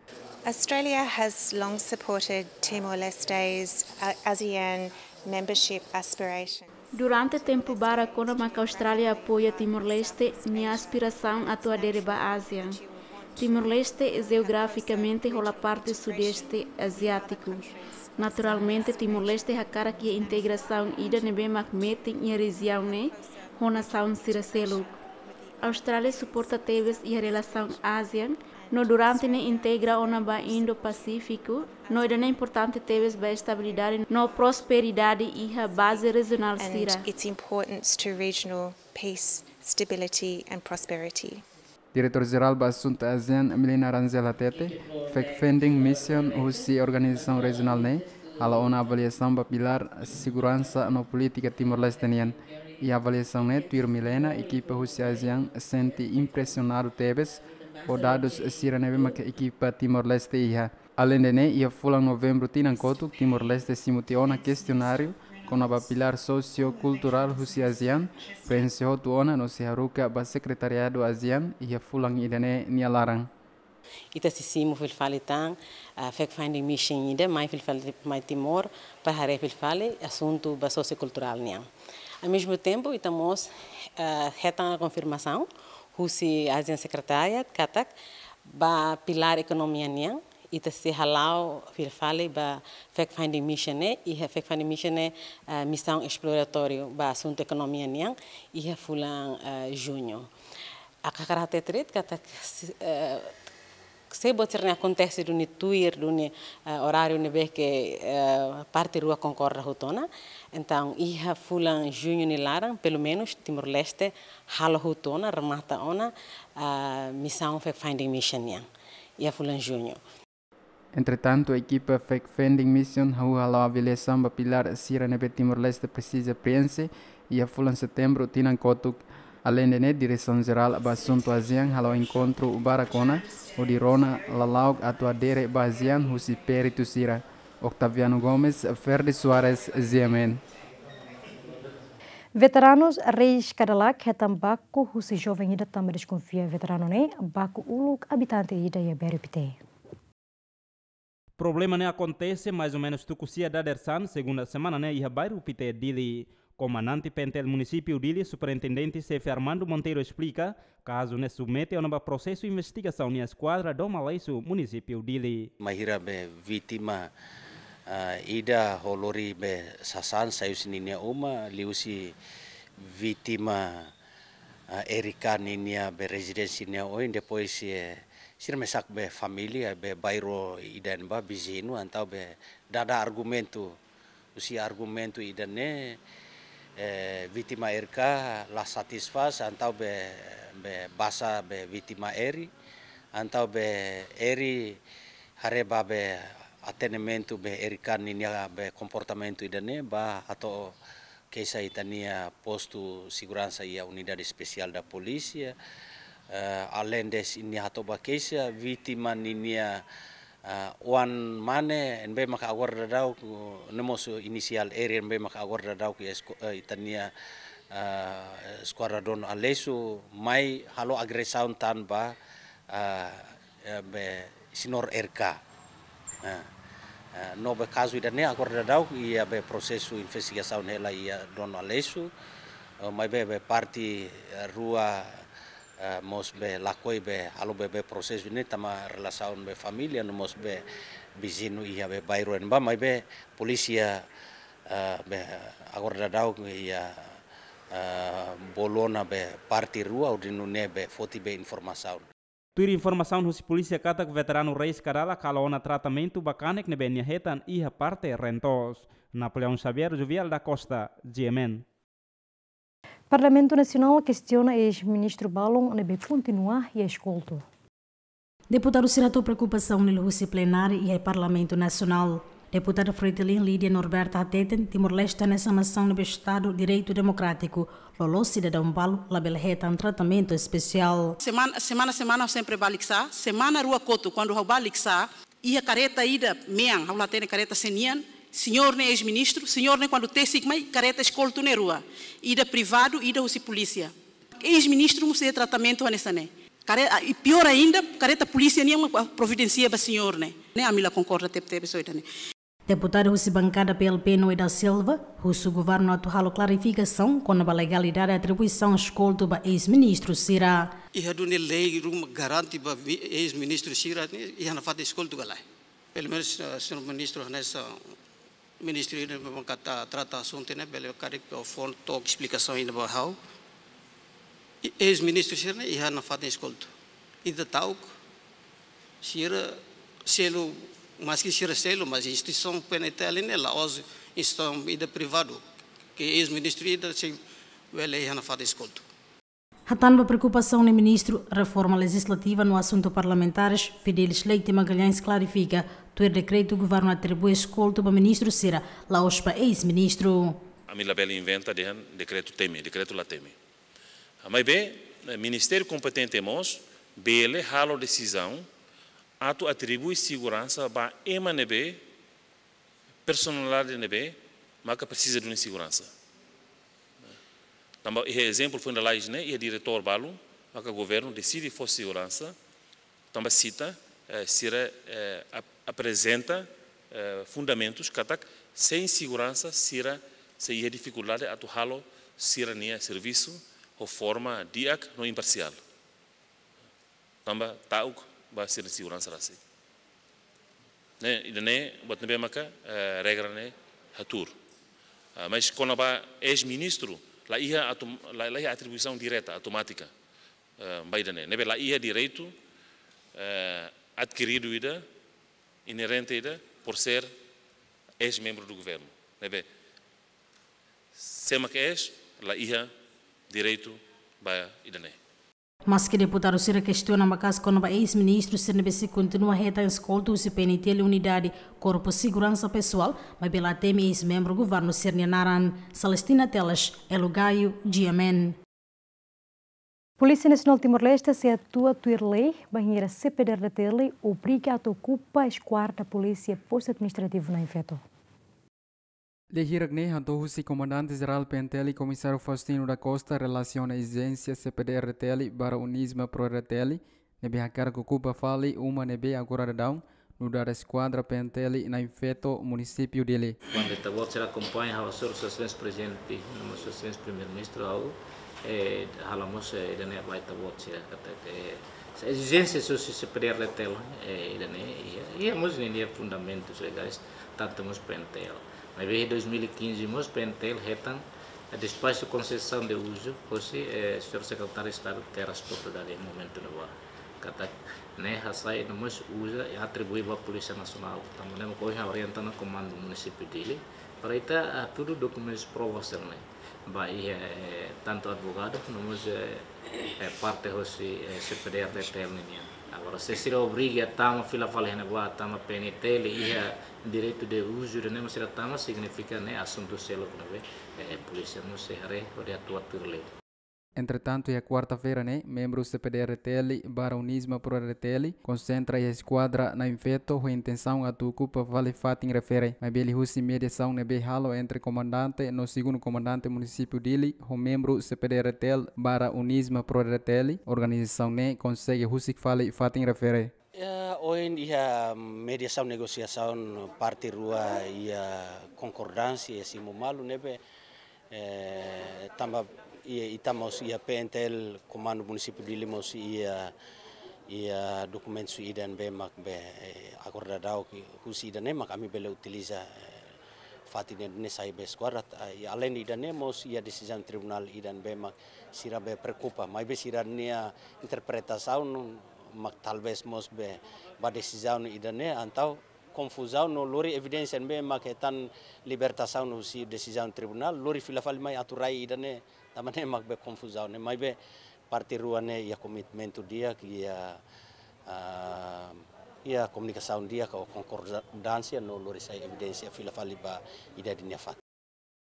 Australia has long supported Timor-Leste's, uh, ASEAN membership aspirations. Durante tempu barak ona maka Austrália apoia Timor-Leste nia aspirasaun atu adere ba ASEAN. Timor-Leste jeografikamente hola parte Sudeste Aziátiku. Naturalmente, Timor-Leste hakarak iha integrasaun ida ne'ebé mak metin iha rejiaun ne'e ho nasaun sira seluk. Austrália suporta tebes iha relasaun ASEAN, no durante ne'e integra ona ba Indo-Pasífiku, no ida-ne'e importante tebes ba estabilidade no prosperidade iha baze rejionál sira. And its importance to regional peace, stability and prosperity. Diretór Jerál ba Asuntu ASEAN, Milena Rangel hatete, fact-finding mission husi organizasaun rejionál ne'e halo ona avaliasaun ba pilár seguransa no polítika Timor-Leste nian. Iha avaliasaun ne'e, tuir Milena, ekipa husi ASEAN sente impresionadu tebes ho dadus sira ne'ebé maka ekipa Timor-Leste iha. Aleinde ne'e, iha fulan Novembru tinan kotuk, Timor-Leste simu tiha ona kestionáriu kona-ba pilár sosiokulturál husi ASEAN, preenxe hotu ona no sei haruka ba Sekretariadu ASEAN iha fulan ida-ne'e nia laran. Ita sei simu fila fali tan, ah, fact-finding mission ida mai fila fali mai Timor, para haree fila fali asuntu ba sosiokulturál nian. Ao mesmo tempo, ita mós, ah, hetan konfirmasaun husi ASEAN Secretariat katak ba pilár ekonomia nian, ita sei hala'o fila fali ba fact-finding mission ne'e, iha fact-finding mission ne'e, ah, misaun esploratóriu ba asuntu ekonomia nian, iha fulan, ah, juñu. Ha'u hakarak hatete de'it katak, eh, se buat sira-ne'e akontese duni tuir duni, eh, oráriu ne'ebé ke, eh, parte rua konkorda hotu ona. Entaun, iha fulan juñu nia laran, pelumenus, Timor-Leste halo hotu ona, remata ona, ah, misaun fact-finding mission nian. Iha fulan juñu. Entretantu, ekipa Fact Finding Mission hahú halo avaliasaun ba pilár sira ne'ebé Timor-Leste presiza prienxe iha fulan Setembru tinan kotuk. Aleinde ne'e, Diresaun Jerál ba Asuntu ASEAN halo enkontru barak ona, hodi rona lala'ok atu adere ba ASEAN husi peritu sira. Octaviano Gomes, Ferdi Soares, G M N. Veteranus Reis Kadalak hetan baku husi joven ida tanba deskonfia veteranu ne'e baku uluk abitante ida iha Bairru Pité. Problema ne'e akontese mais ou menus tuku sia dadeer-saan, segunda semana ne'e, iha Bairru Pité, Dili. Komandante PNTL Munisípiu Dili, Superintendente Xefe Armando Monteiro, esplika, kazu ne'e submete ona ba prosesu investigasaun iha Eskuadra Dom Aleixo, Munisípiu Dili. Bainhira be vítima, ah, ida ho lori be sasán sai husi ninia uma, liuhusi vítima, ah, Erika ninia be rezidénsia nia oin, depois, eh, sira mesak be família be bairru ida-ne'ebá viziñu, entaun be dada argumentu, husi argumentu ida-ne'e, eh, vítima Erika la satisfás, entaun be, be basa be vítima Eri, entaun be Eri haree ba be atendimentu be Erika ninia be komportamentu ida-ne'e, bá hato'o keixa iha ita-nia postu seguransa iha Unidade Espesiál da Polísia. Eh, aleinde nia hato'o ba keixa, vítima ninia, eh, oan mane, ne'ebé maka agora daudaun, eh, ne'e mós inisiál R, ne'ebé maka agora daudaun iha esko-, eh, ita-nia, eh, Eskuadra Dom Aleixo, mai halo agresaun tan ba, eh, eh, be señór Erika. Eh, eh, no be kazu ida-ne'e agora daudaun iha be prosesu investigasaun hela iha Dom Aleixo, eh, maibé be parte, eh, rua, eh, mós be lakohi be halo be, be prosesu ne'e tanba relasaun be família, no mós be viziñu iha be bairru ne'ebá, maibé polísia, eh, be agora daudaun iha, eh, bolu ona be parte rua, hodi nune'e be foti be informasaun. Tuir informasaun husi polísia katak veteranu Reis Kadalak halo ona tratamentu ba kanek ne'ebé nia hetan iha parte Rentos. Napoleão Xavier, Jovial da Costa, G M N. Parlamentu Nasionál kestiona eis-ministru balun ne'ebé kontinua iha eskoltu. Deputadu sira hato'o preokupasaun ne'e liuhusi plenária iha Parlamentu Nasionál. Deputada Fretilin Lídia Norberta hateten, Timor-Leste hanesan nasaun ne'ebé Estadu direitu demokrátiku, loloos sidadaun balu labele hetan tratamentu espesiál. Semana, semana, semana sempre bá liksá, semana rua kotuk, kuandu ha'u bá liksá, iha kareta ida mean, ha'u la hatene kareta sé nian, señór ne'e eis-ministru, señór ne'e kuandu tesik mai, kareta eskoltu ne'e rua, ida privadu, ida husi polísia. Eis-ministru mós iha tratamentu hanesan ne'e. Kare-, ah, i piór ainda, kareta polísia nian mak providensia ba señór ne'e. Ne'e ami la konkorda tebetebes ho ida-ne'e. Deputadu husi bankada P L P Noé da Silva husu governu atu halo klarifikasaun kona-ba legalidade atribuisaun eskoltu ba eis-ministru sira. Iha duni lei ruma garante ba vi-, eis-ministru sira ne'e iha nafatin eskoltu ka lae. Pelumenus, eh, señór ministru hanesan ministru ida ne'ebé maka trata asuntu ne'e, bele karik fó took esplikasaun ida ba ha'u. I eis-ministru sira ne'e iha nafatin eskoltu. Ita ta'uk, sira selu, maski sira selu, mas instituisaun PNTL ne'e la'ós instituisaun ida privadu, ke eis-ministru ida sei bele iha nafatin eskoltu. Hatán ba preokupasaun ne'e, ministru reforma lejizlativa no asuntu parlamentares, Fidelis Leite Magalhães, klarifika, tuir dekretu governu atribui eskoltu ba ministru sira, la'ós ba eis-ministru. Ami labele inventa dehan dekretu temi, dekretu la temi. Maibé, eh, ministériu kompetente mós bele halo desizaun atu atribui seguransa ba ema ne'ebé, personalidade ne'ebé maka presiza duni seguransa. Tanba iha ezemplu foin lalais ne'e, iha diretór balu maka governu deside fó seguransa, tanba sita, Eh, sira, eh, ap-, aprezenta, eh, fundamentus katak sein seguransa sira sei iha difikuldade atu halo sira-nia servisu ho forma di'ak no imparsiál. Tanba ta'uk ba sira-nia seguransa rasik. Ne'e, ida-ne'e buat ne'ebé maka, eh, regra ne'e hatuur. Ah, mas kona-ba eis-ministru, la iha atum-, la, la iha atribuisaun direta, automátika, eh, ba ida-ne'e. Ne'ebé la iha direitu, eh, adkiridu ida, inerente ida, por ser eis-membru do governu. Ne'ebé, sé mak eis, la iha direitu ba ida-ne'e. Maske deputadu sira kestiona maka'as kona-ba eis-ministru sira ne'ebé sei kontinua hetan eskolta husi P N T L Unidade Korpu Seguransa Pesoál, maibé la temi eis-membru governu sira-nia naran. Celestina Teles, Elo Gayo, G M N. Polísia Nasionál Timor-Leste sei atua tuir lei bainhira C P D R D T L obriga atu okupa eskuadra polísia Postu Administrativu Nain Feto. Lei hirak ne'e hato'o husi Komandante Jerál P N T L, Komisáriu Faustino da Costa, relasiona ezijénsia C P D R D T L barra UNISMA Pro R D T L, ne'ebé hakarak okupa fali uma ne'ebé agora daudaun nu'udar eskuadra P N T L Nain Feto, Munisípiu Dili. Kuandu ita-boot sira akompaña ha'u, Sua Exelénsia Prezidente, no mós Sua Exelénsia Primeiru-Ministru, ha'u, eh, halo mós, eh, ida-ne'e ba ita-boot sira katak, eh, ezijénsia husi C P D R D T L, eh, ida-ne'e, iha, iha mós ninia fundamentus legais, tantu mós P N T L. Maibé dois mil e quinze mós P N T L hetan, eh, despaxu konsesaun de uzu hosi, eh, Señór Sekretáriu Estadu Terras Propriedade iha momentu ne'ebá. Katak ne'e hasai no mós uza i atribui ba Polísia Nasionál. Tanba ne'e mak ohin orienta ona Komandu Munisípiu Dili para ita, ah, hatudu dokumentus prova sira-ne'e ba iha, eh, tantu advogadu, no mós, eh, eh, parte hosi, eh, C P D R D T L ninian. Agora, se sira obriga tama fila fali iha ne'ebá, tama P N T L iha direitu de uzu ida-ne'e mak sira tama, signifika ne'e asuntu seluk ne'ebé, eh, polísia mós sei haree hodi atua tuir lei. Entretantu, iha kuarta-feira ne'e, membru C P D R D T L barra UNISMA Pro R D T L konsentra iha eskuadra Nain Feto ho intensaun atu okupa fali fatin refere. Maibé liuhusi mediasaun ne'ebé halo entre komandante no segundu komandante Munisípiu Dili ho membru C P D R D T L barra UNISMA Pro R D T L, organizasaun ne'e konsege husik fali fatin refere. Ya, ohin iha mediasaun negosiasaun parte rua iha konkordánsia iha simu malu ne'ebé, eh, tanba iha ita mós iha P N T L Komandu Munisípiu Dili mós iha, iha dokumentus ida ne'ebé mak be, eh, akorda daudaun husi ida-ne'e mak ami bele utiliza, eh, fatin ne'e sai be eskuadra, eh, além ida-ne'e mós iha desizaun tribunál ida ne'ebé mak sira be preokupa, maibé sira-nia interpretasaun mak talvés mós be ba desizaun ida-ne'e, entaun konfuzaun no lori evidénsia ne'ebé mak hetan libertasaun husi desizaun tribunál, lori fila fali mai atu rai ida-ne'e, tanba ne'e mak be konfuzaun ne'e, maibé parte rua ne'e iha komitmentu di'ak, iha, ah, iha komunikasaun di'ak ho konkordánsia no lori sai evidénsia fila fali ba ida-idak nia fatin.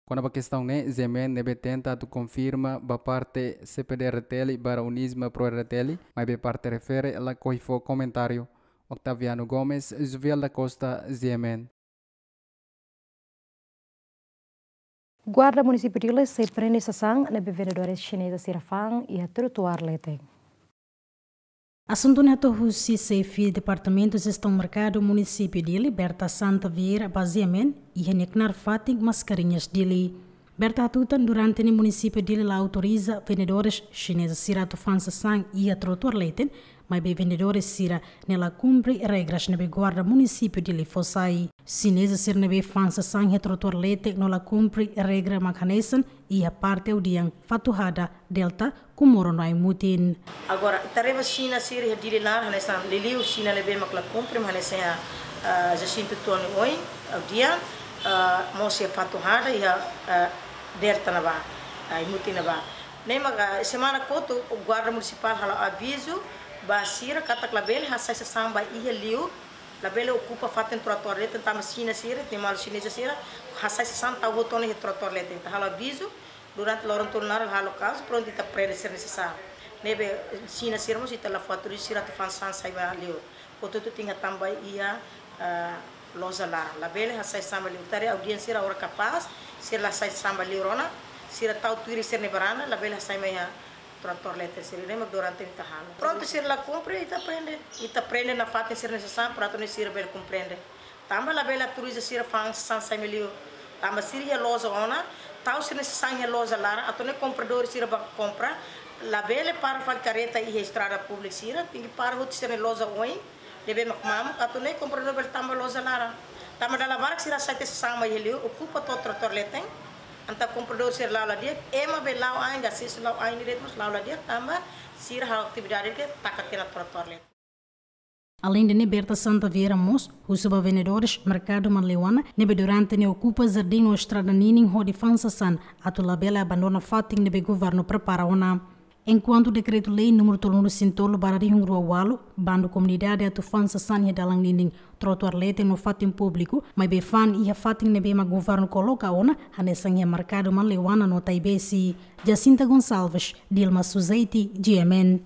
Kona-ba kestaun ne'e, G M N ne'ebé tenta atu konfirma ba parte C P D R D T L barra UNISMA Pro R D T L, maibé parte refere lakohi fó komentáriu. Octaviano Gomes, Juvial da Costa, G M N. Guarda Munisípiu Dili sei prende sasán ne'ebé vendedores xineza sira fa'an iha trotuár leten. Asuntu ne'e hato'o husi Xefe Departamentu Jestaun Merkadu Munisípiu Dili, Berta Santa Vieira, ba G M N, iha nia knaar fatin Mascarenhas, Dili. Berta hatutan durante ne'e Munisípiu Dili la autoriza vendedores xineza sira atu fa'an sasán iha trotuár leten, maibé vendedores sira-ne'e la kumpre regras ne'ebé Guarda Munisípiu Dili fó sai. Xineza sira ne'ebé fa'an sasán iha trotuár leten no la kumpre regra mak hanesan iha parte Audian, Fatuhada, Delta, Comoro no Aimutin. Agora, ita haree ba Xina sira iha Dili laran, hanesan liuliu Xina ne'ebé mak la kumpre, mak hanesan iha, ah, Jacinto Tony oin, Audian, ah, mós iha Fatuhada, iha, ah, Delta ne'ebá, ah, Aimutin ne'ebá. Ne'e maka, ah, semana kotuk, Guarda Munisipál halo avizu ba sira katak labele hasai sasán ba iha liur, labele okupa fatin trotuár leten, tanba Xina sira, nia maluk xineza sira hasai sasán tau hotu ona iha trotuár leten. Ita halo avizu, durante loron tolu naran la halo kazu, prontu ita prende sira-nia sasán. Ne'ebé Xina sira mós ita la fó autoriza sira atu fa'an sasán sai ba liur. Portantu tenke hatama ba iha, ah, loja laran. Labele hasai sasán ba liur. Ita haree Audian sira agora kapás, sira la hasai sasán ba liur ona, sira tau tuir sira-nia baranda, labele hasai mai iha Tratór leten sira ne'e mak durante ita halo. Prontu, sira la kumpre, ita prende. Ita prende nafatin sira-nia sasán, para atu nune'e sira bele komprende. Tanba labele autoriza sira fa'an sasán sai mai liur. Tanba sira iha loja ona, tau sira-nia sasán iha loja laran, atu nune'e kompradór sira bá kompra. Labele para fali kareta iha estrada públiku sira, tenke para hotu sira-nia loja oin. Ne'ebé mak mamuk, atu nune'e kompradór bele tama ba loja laran. Tanba dala barak sira hasai tiha sasán mai iha liur, okupa to'o tratór leten. Entaun kompradór sira la'o la di'ak, ema be la'o ain, asesu la'o ain diretu mós la'o la di'ak, tanba sira halo atividade ke taka tiha ona tratór leten. Além de ne'e, Berta Santa Vieira mós husu ba vendedores merkadu Manleuana, ne'ebé durante ne'e okupa jardín no estrada ninin hodi fa'an sasán, atu labele abandona fatin ne'ebé governu prepara ona. Enkuantu dekretu-lei númeru tolunulu-resin-tolu barra rihun rua ualu, bandu komunidade atu fa'an sasán iha dalan ninin, trotuár leten no fatin públiku, maibé fa'an iha fatin ne'ebé mak governu koloka ona, hanesan iha merkadu Manleuana no Taibesi. Jacinta Gonçalves, Dilma Suzeiti, G M N.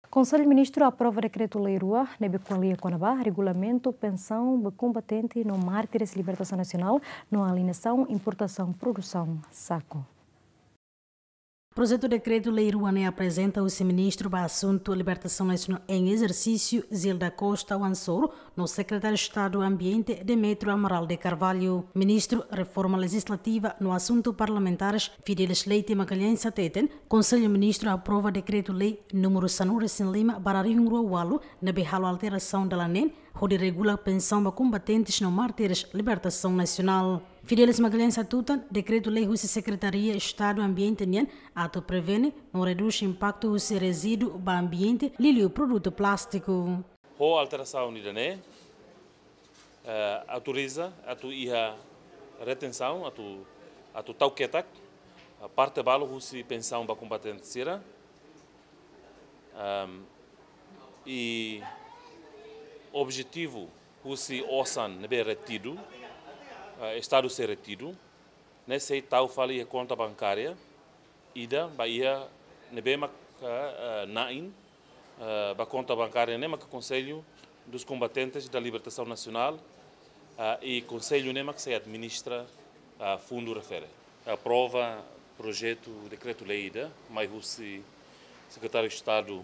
Konsellu Ministru aprova dekretu-lei rua ne'ebé ko'alia kona-ba regulamentu pensaun ba kombatente no mártires libertasaun nasionál no alienasaun importasaun produsaun saku. Projetu dekretu-lei rua ne'e aprezenta husi Ministru ba Asuntu Libertasaun Nasionál em Ezersísiu, Zilda Costa Wansour, no Sekretáriu Estadu Ambiente, Demetrio Amaral de Carvalho. Ministru Reforma Lejizlativa no Asuntu Parlamentares, Fidelis Leite Magalhães, hateten, Konsellu Ministru aprova dekretu-lei númeru sanulu-resin-lima barra rihun rua ualu, ne'ebé halo alterasaun dalan neen, hodi regula pensaun ba kombatentes no mártires libertasaun nasionál. Fidelis Magalhães hatutan, dekretu-lei husi Sekretaria Estadu Ambiente nian atu prevene no redús impaktu husi rezíduu ba ambiente liuliu produtu plástiku. Ho alterasaun ida-ne'e, eh, autoriza atu iha retensaun, atu, atu tau ketak, eh, parte balu husi pensaun ba kombatente sira. Ehm, i objetivu husi osan ne'ebé retidu, eh, Estadu sei retidu, ne'e sei tau fali iha konta bankária ida ba iha ne'ebé mak, eh, eh, na'in, eh, ba konta bankária ne'e mak Conselho dos Combatentes da Libertação Nacional, eh, i Konsellu ne'e mak sei administra, eh, fundu refere. Aprova projetu dekretu-lei ida mai husi Sekretáriu Estadu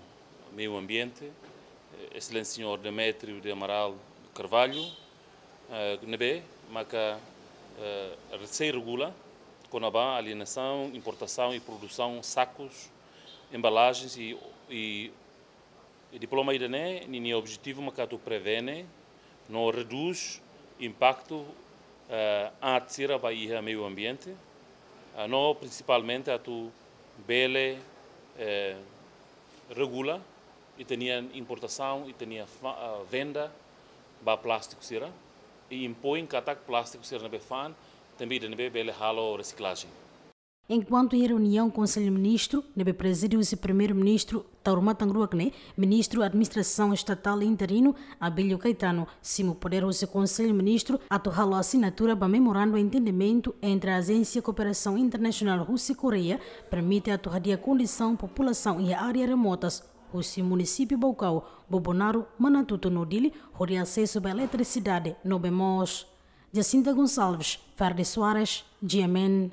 Meiu Ambiente, eh, Exelénsia Señór Demetrio de Amaral Carvalho, eh, ne'ebé maka, eh, sei regula kona-ba alienasaun, importasaun i produsaun sakus, embalagens i, i, i diploma ida-ne'e, ninia objetivu maka atu prevene no redús impaktu, eh, aat sira ba iha meiu ambiente, eh, no prinsipalmente atu bele, eh, regula ita-nia importasaun, ita-nia fa-, ah, venda ba plástiku sira, i impoin katak plástiku sira ne'ebé fa'an, tenke ida ne'ebé bele halo resiklajen. Enkuantu iha reuniaun Konsellu Ministru, ne'ebé prezide husi Primeiru-Ministru Taur Matan Ruak ne'e, Ministru Administrasaun Estatál interinu, Abílio Caetano, simu podér husi Konsellu Ministru atu halo asinatura ba memorandu entendimentu entre Ajénsia Kooperasaun Internasionál husi Koreia, permite atu hadi'a kondisaun populasaun iha área remotas, husi munisípiu Baucau, Bobonaro, Manatuto no Dili, hodi asesu ba eletrisidade no bee moos. Jacinta Gonçalves, Ferdi Soares, G M N.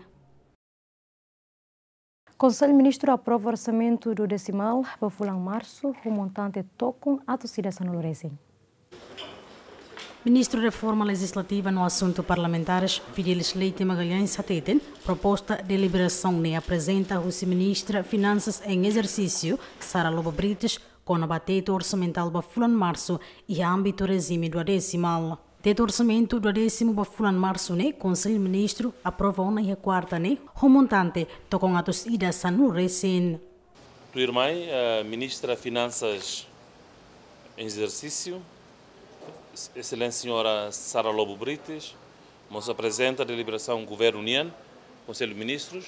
Konsellu Ministru aprova orsamentu duodesimál ba fulan Marsu, ho montante tokon atus ida sanulu resin. Ministru Reforma Lejizlativa no Asuntu Parlamentares, Fidelis Leite Magalhães, hateten, proposta deliberasaun ne'e aprezenta husi Ministra Finansas em Exercício, Sara Lobo Brites, kona-ba tetu orsamentál ba fulan Marsu, iha ámbitu rejime duodesimál. Tetu orsamentu duodésimu ba fulan Marsu ne'e, Konsellu Ministru aprova ona iha kuarta ne'e, ho montante tokon atus ida sanulu resin. Tuirmai, eh, Ministra Finansas em Exercício, Exelénsia Señora Sara Lobo Brites, mós aprezenta deliberasaun Governu nian, Konsellu Ministrus,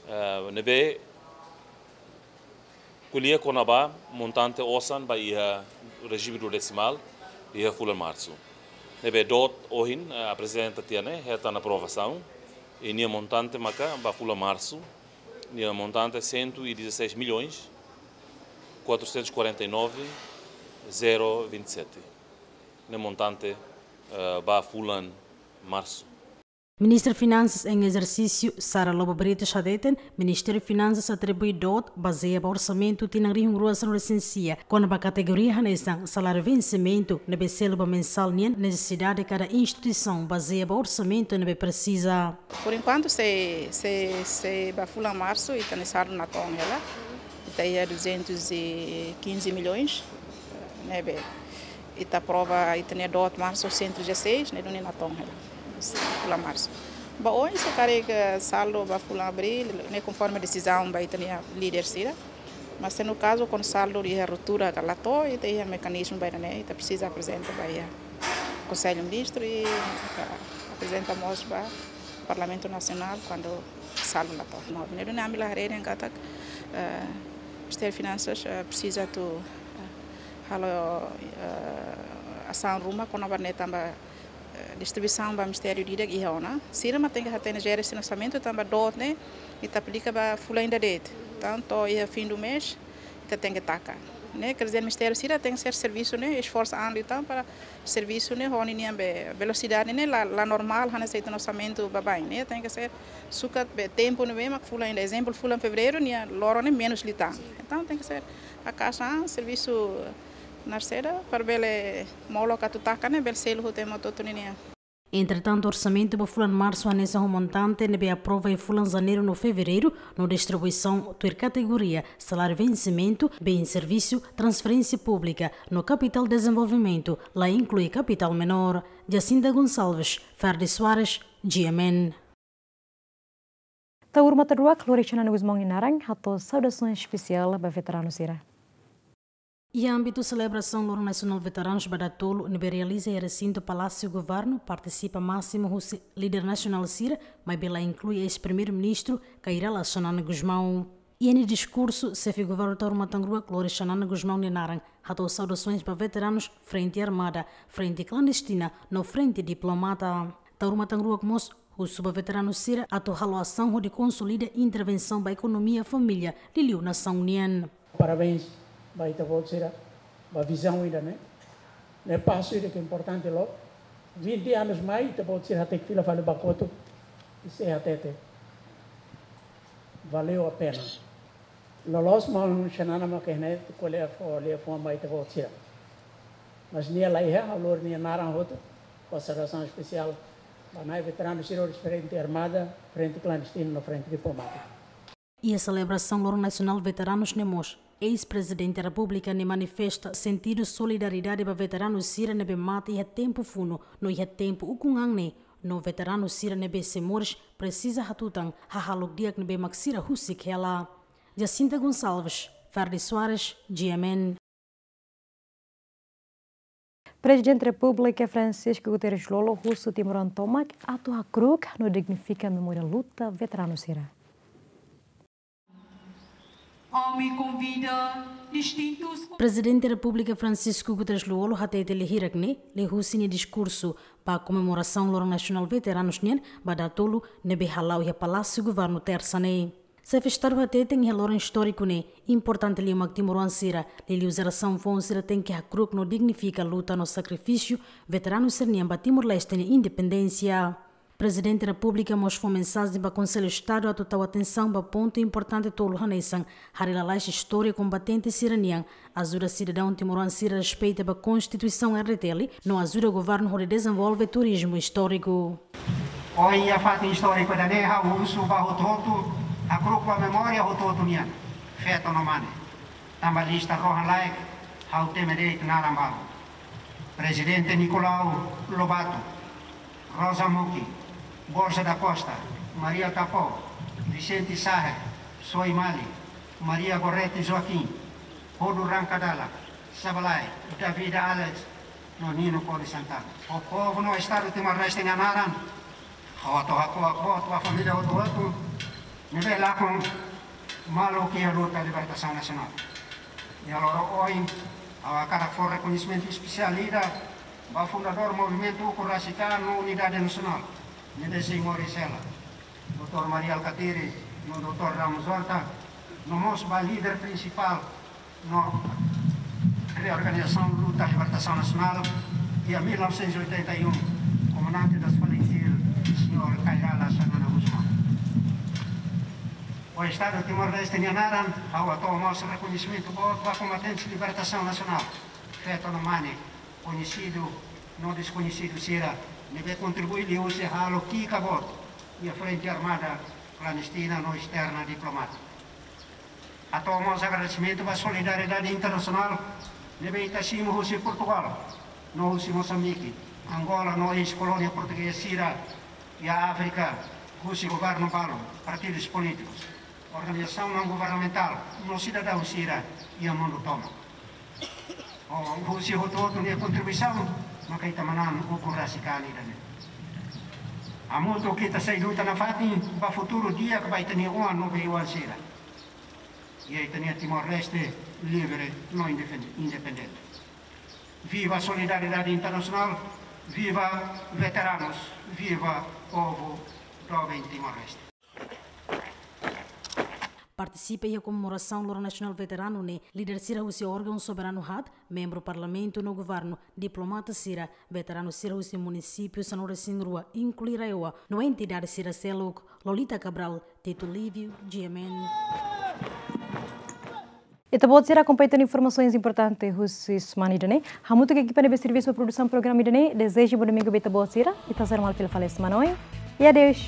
eh, ne'ebé ko'alia kona-ba montante osan ba iha rejime duodesimál iha fulan Marsu. Ne'ebé doot ohin, eh, aprezenta tiha ne'e, hetan aprovasaun, i nia montante maka ba fulan Marsu, nia montante cento e dezasseis milhões quatrocentos e quarenta e nove zero vinte e sete. Ne'e montante, eh, ba fulan Marsu. Ministra Finansas em ezersísiu, Sara Lobo Brites, hateten Ministériu Finansas atribui doot bazeia ba orsamentu tinan rihun rua sanulu-resin-sia, kona-ba kategoria hanesan saláriu vensimentu ne'ebé selu ba mensál nian nesesidade kada instituisaun bazeia ba orsamentu ne'ebé presiza. Por enkuantu, se, se, se ba fulan marsu, ita-nia saldu natoon hela, ita iha duzentos e quinze milhões, ne'ebé ita aprova, ita-nia doot marsu cento e dezasseis, ne'e duni natoon hela. Fulan marsu. Ba oin, se karik saldu ba fulan abríl, ne'e konforme desizaun ba ita-nia líder sira. Mas se no kazu, kuandu saldu iha ruptura ka la to'o, ita iha mekanizmu ba ida-ne'e, ita presiza aprezenta ba iha Konsellu Ministru i, ah, aprezenta mós ba Parlamentu Nasionál kuandu saldu la to'o. No, ne'e duni ami la haree dehan katak, eh, Ministériu Finansas, eh, presiza atu, eh, halo, eh, asaun ruma kona-ba ne'e tanba, eh, distribuisaun ba ministériu ida-idak iha ona. Sira mak tenke hatene jere sira-nia orsamentu tanba doot ne'e ita aplika ba fulan ida de'it. Entaun, iha fim do mês, ita tenke taka. Ne'e, quer dizer, ministériu sira tenke ser servisu ne'e esforsu an liután para servisu ne'e ho ninia be velosidade ne'e la, la normál, hanesan ita-nia orsamentu baibain ne'e. Tenke ser sukat be tempu ne'ebé mak fulan ida. Ezemplu, fulan fevereiru nia loron ne'e menus liután. Entaun, tenke ser haka'as an servisu narseda para bele molok atu taka ne'e, bele selu hotu ema hotu-hotu ninia. Entretantu, orsamentu ba fulan marsu hanesan ho montante ne'ebé aprova iha fulan janeiru no fevereiru, no distribuisaun tuir kategoria, saláriu vensimentu, bens servisu, transferénsia públika, no kapitál dezenvolvimentu, la inklui kapitál menór. Jacinta Gonçalves, Ferdi Soares, G M N. Taur Matan Ruak, Lori Xanana Gusmão nia naran, hato'o saudasaun espesiál ba veteranu sira. Iha ámbitu selebrasaun Loron Nasionál Veteranus ba dala tolu ne'ebé realiza iha resintu Palásiu Governu, partisipa másimu husi líder nasionál sira, maibé la inklui eis-Primeiru-Ministru Kay Rala Xanana Gusmão. Iha nia diskursu, Xefe Governu Taur Matan Ruak, Lori Xanana Gusmão nia naran, hato'o saudasoens ba veteranus Frente Armada, Frente Klandestina, no Frente Diplomata. Taur Matan Ruak mós husu ba veteranu sira atu halo asaun hodi konsolida intervensaun ba ekonomia família, liuliu nasaun nian. Parabéns ba ita-boot sira ba vizaun ida-ne'e. Ne'e pasu ida ke importante loos. Vinte anos mai, ita-boot sira tenke fila fali ba kotuk i sei hatete: valeu a pena. Loloos maun Xanana mak ne'e, ko'alia fó, ko'alia fó mai ita-boot sira. Mas nia la iha, ha'u lori nia naran hotu, fó saudasaun espesiál ba nai veteranu sira husi Frente Armada, Frente Klandestina no Frente Diplomátika. Iha selebrasaun Loron Nasionál Veteranus ne'e mós, eis-Prezidente Repúblika ne'e manifesta sentidu solidariedade ba veteranu sira ne'ebé mate iha tempu funu no iha tempu ukun-an ne'e, no veteranu sira ne'ebé sei moris presiza hatutan hahalok di'ak ne'ebé mak sira husik hela. Jacinta Gonçalves, Ferdi Soares, G M N. Prezidente Repúblika Francisco Guterres Lú-Olo husu timoroan tomak atu hakru'uk no dignifika memória luta veteranu sira. Ami konvida distintus. Prezidente Repúblika Francisco Guterres Lú-Olo hatete iha hirak ne'e, liuhusi nia diskursu ba komemorasaun Loron Nasionál Veteranus nian ba dala tolu ne'ebé hala'o iha Palásiu Governu Tersa ne'e. Xefe Estadu hateten iha loron istóriku ne'e, importante liu mak timoroan sira, liuliu jerasaun foun sira tenke hakru'uk no dignifika luta no sakrifísiu veteranu sira-nian ba Timor-Leste nia independénsia. Prezidente Repúblika mós fó mensajen ba Konsellu Estadu atu tau atensaun ba pontu importante tolu hanesan, haree lalais istória kombatente sira-nian, ajuda sidadaun timoroan sira respeita ba Konstituisaun R D T L, no ajuda governu hodi dezenvolve turizmu istóriku. Ohin iha fatin istóriku ida-ne'e ha'u husu ba hotu-hotu, hakru'uk ba memória hotu-hotu nian, feto no mane. Tanba lista rohan-laek, ha'u temi de'it naran balu. Prezidente Nicolau Lobato, Rosa Muki, Borja da Costa, Maria Capó, Vicente Sahe, Soe Mali, Maria Gorete Joaquim, Hodu Ranka Dala, Sabalae, Davida Alex, no Nino Konis Santana. Ho povu no Estadu Timor-Leste nia naran, ha'u atu hako'ak boot ba família hotu-hotu ne'ebé lakon maluk iha luta libertasaun nasionál. Iha loron ohin, ha'u hakarak fó rekoñesimentu espesiál ida ba fundadór Movimentu Ukun Rasik An no Unidade Nasionál, ne'ebé sei moris hela, doutór Mari Alkatiri no doutór Ramos Horta, no mós ba líder prinsipál no reorganizasaun luta libertasaun nasionál iha mil novecentos e oitenta e um, komandante das FALINTIL, Kay Rala Xanana Gusmão. Ho Estadu Timor-Leste nia naran, ha'u hato'o mós rekoñesimentu boot ba kombatentes libertasaun nasionál, feto no mane, koñesidu no deskoñesidu sira, ne'ebé kontribui liuhusi halo ki'ik boot iha frente armada klandestina no esterna diplomátika. Hato'o mós agradesimentu ba solidariedade internasionál ne'ebé ita simu husi Portugal, no husi Mosambike, Angola no eis-kolónia portugeza sira iha Áfrika, husi governu balu, partidus polítikus, organizasaun naun-governamentál no sidadaun sira iha mundu tomak. Ho, husi hotu-hotu nia kontribuisaun, maka ita manán ukun rasik an ida-ne'e. Hamutuk ita sei luta nafatin ba futuru di'ak ba ita-nia oan no bei-oan sira. Iha ita-nia Timor-Leste livre no indefen-, independente. Viva solidariedade internasionál, viva veteranus, viva povu doben Timor-Leste. Partisipa iha komemorasaun Loron Nasionál Veteranu ne'e, líder sira husi órgaun soberanu haat, membru parlamentu no governu, diplomata sira, veteranu sira husi munisípiu sanulu-resin-rua, inklui RAEOA, no entidade sira seluk, Lolita Cabral, Tito Lívio, G M N. Ita-boot sira akompaña tan informasaun importante husi semana ida-ne'e. Hamutuk ho ekipa ne'ebé servisu ba produsaun programa ida-ne'e, dezeja bom domingu ba ita-boot sira. Ita sei hasoru malu fila fali semana oin. E adeus.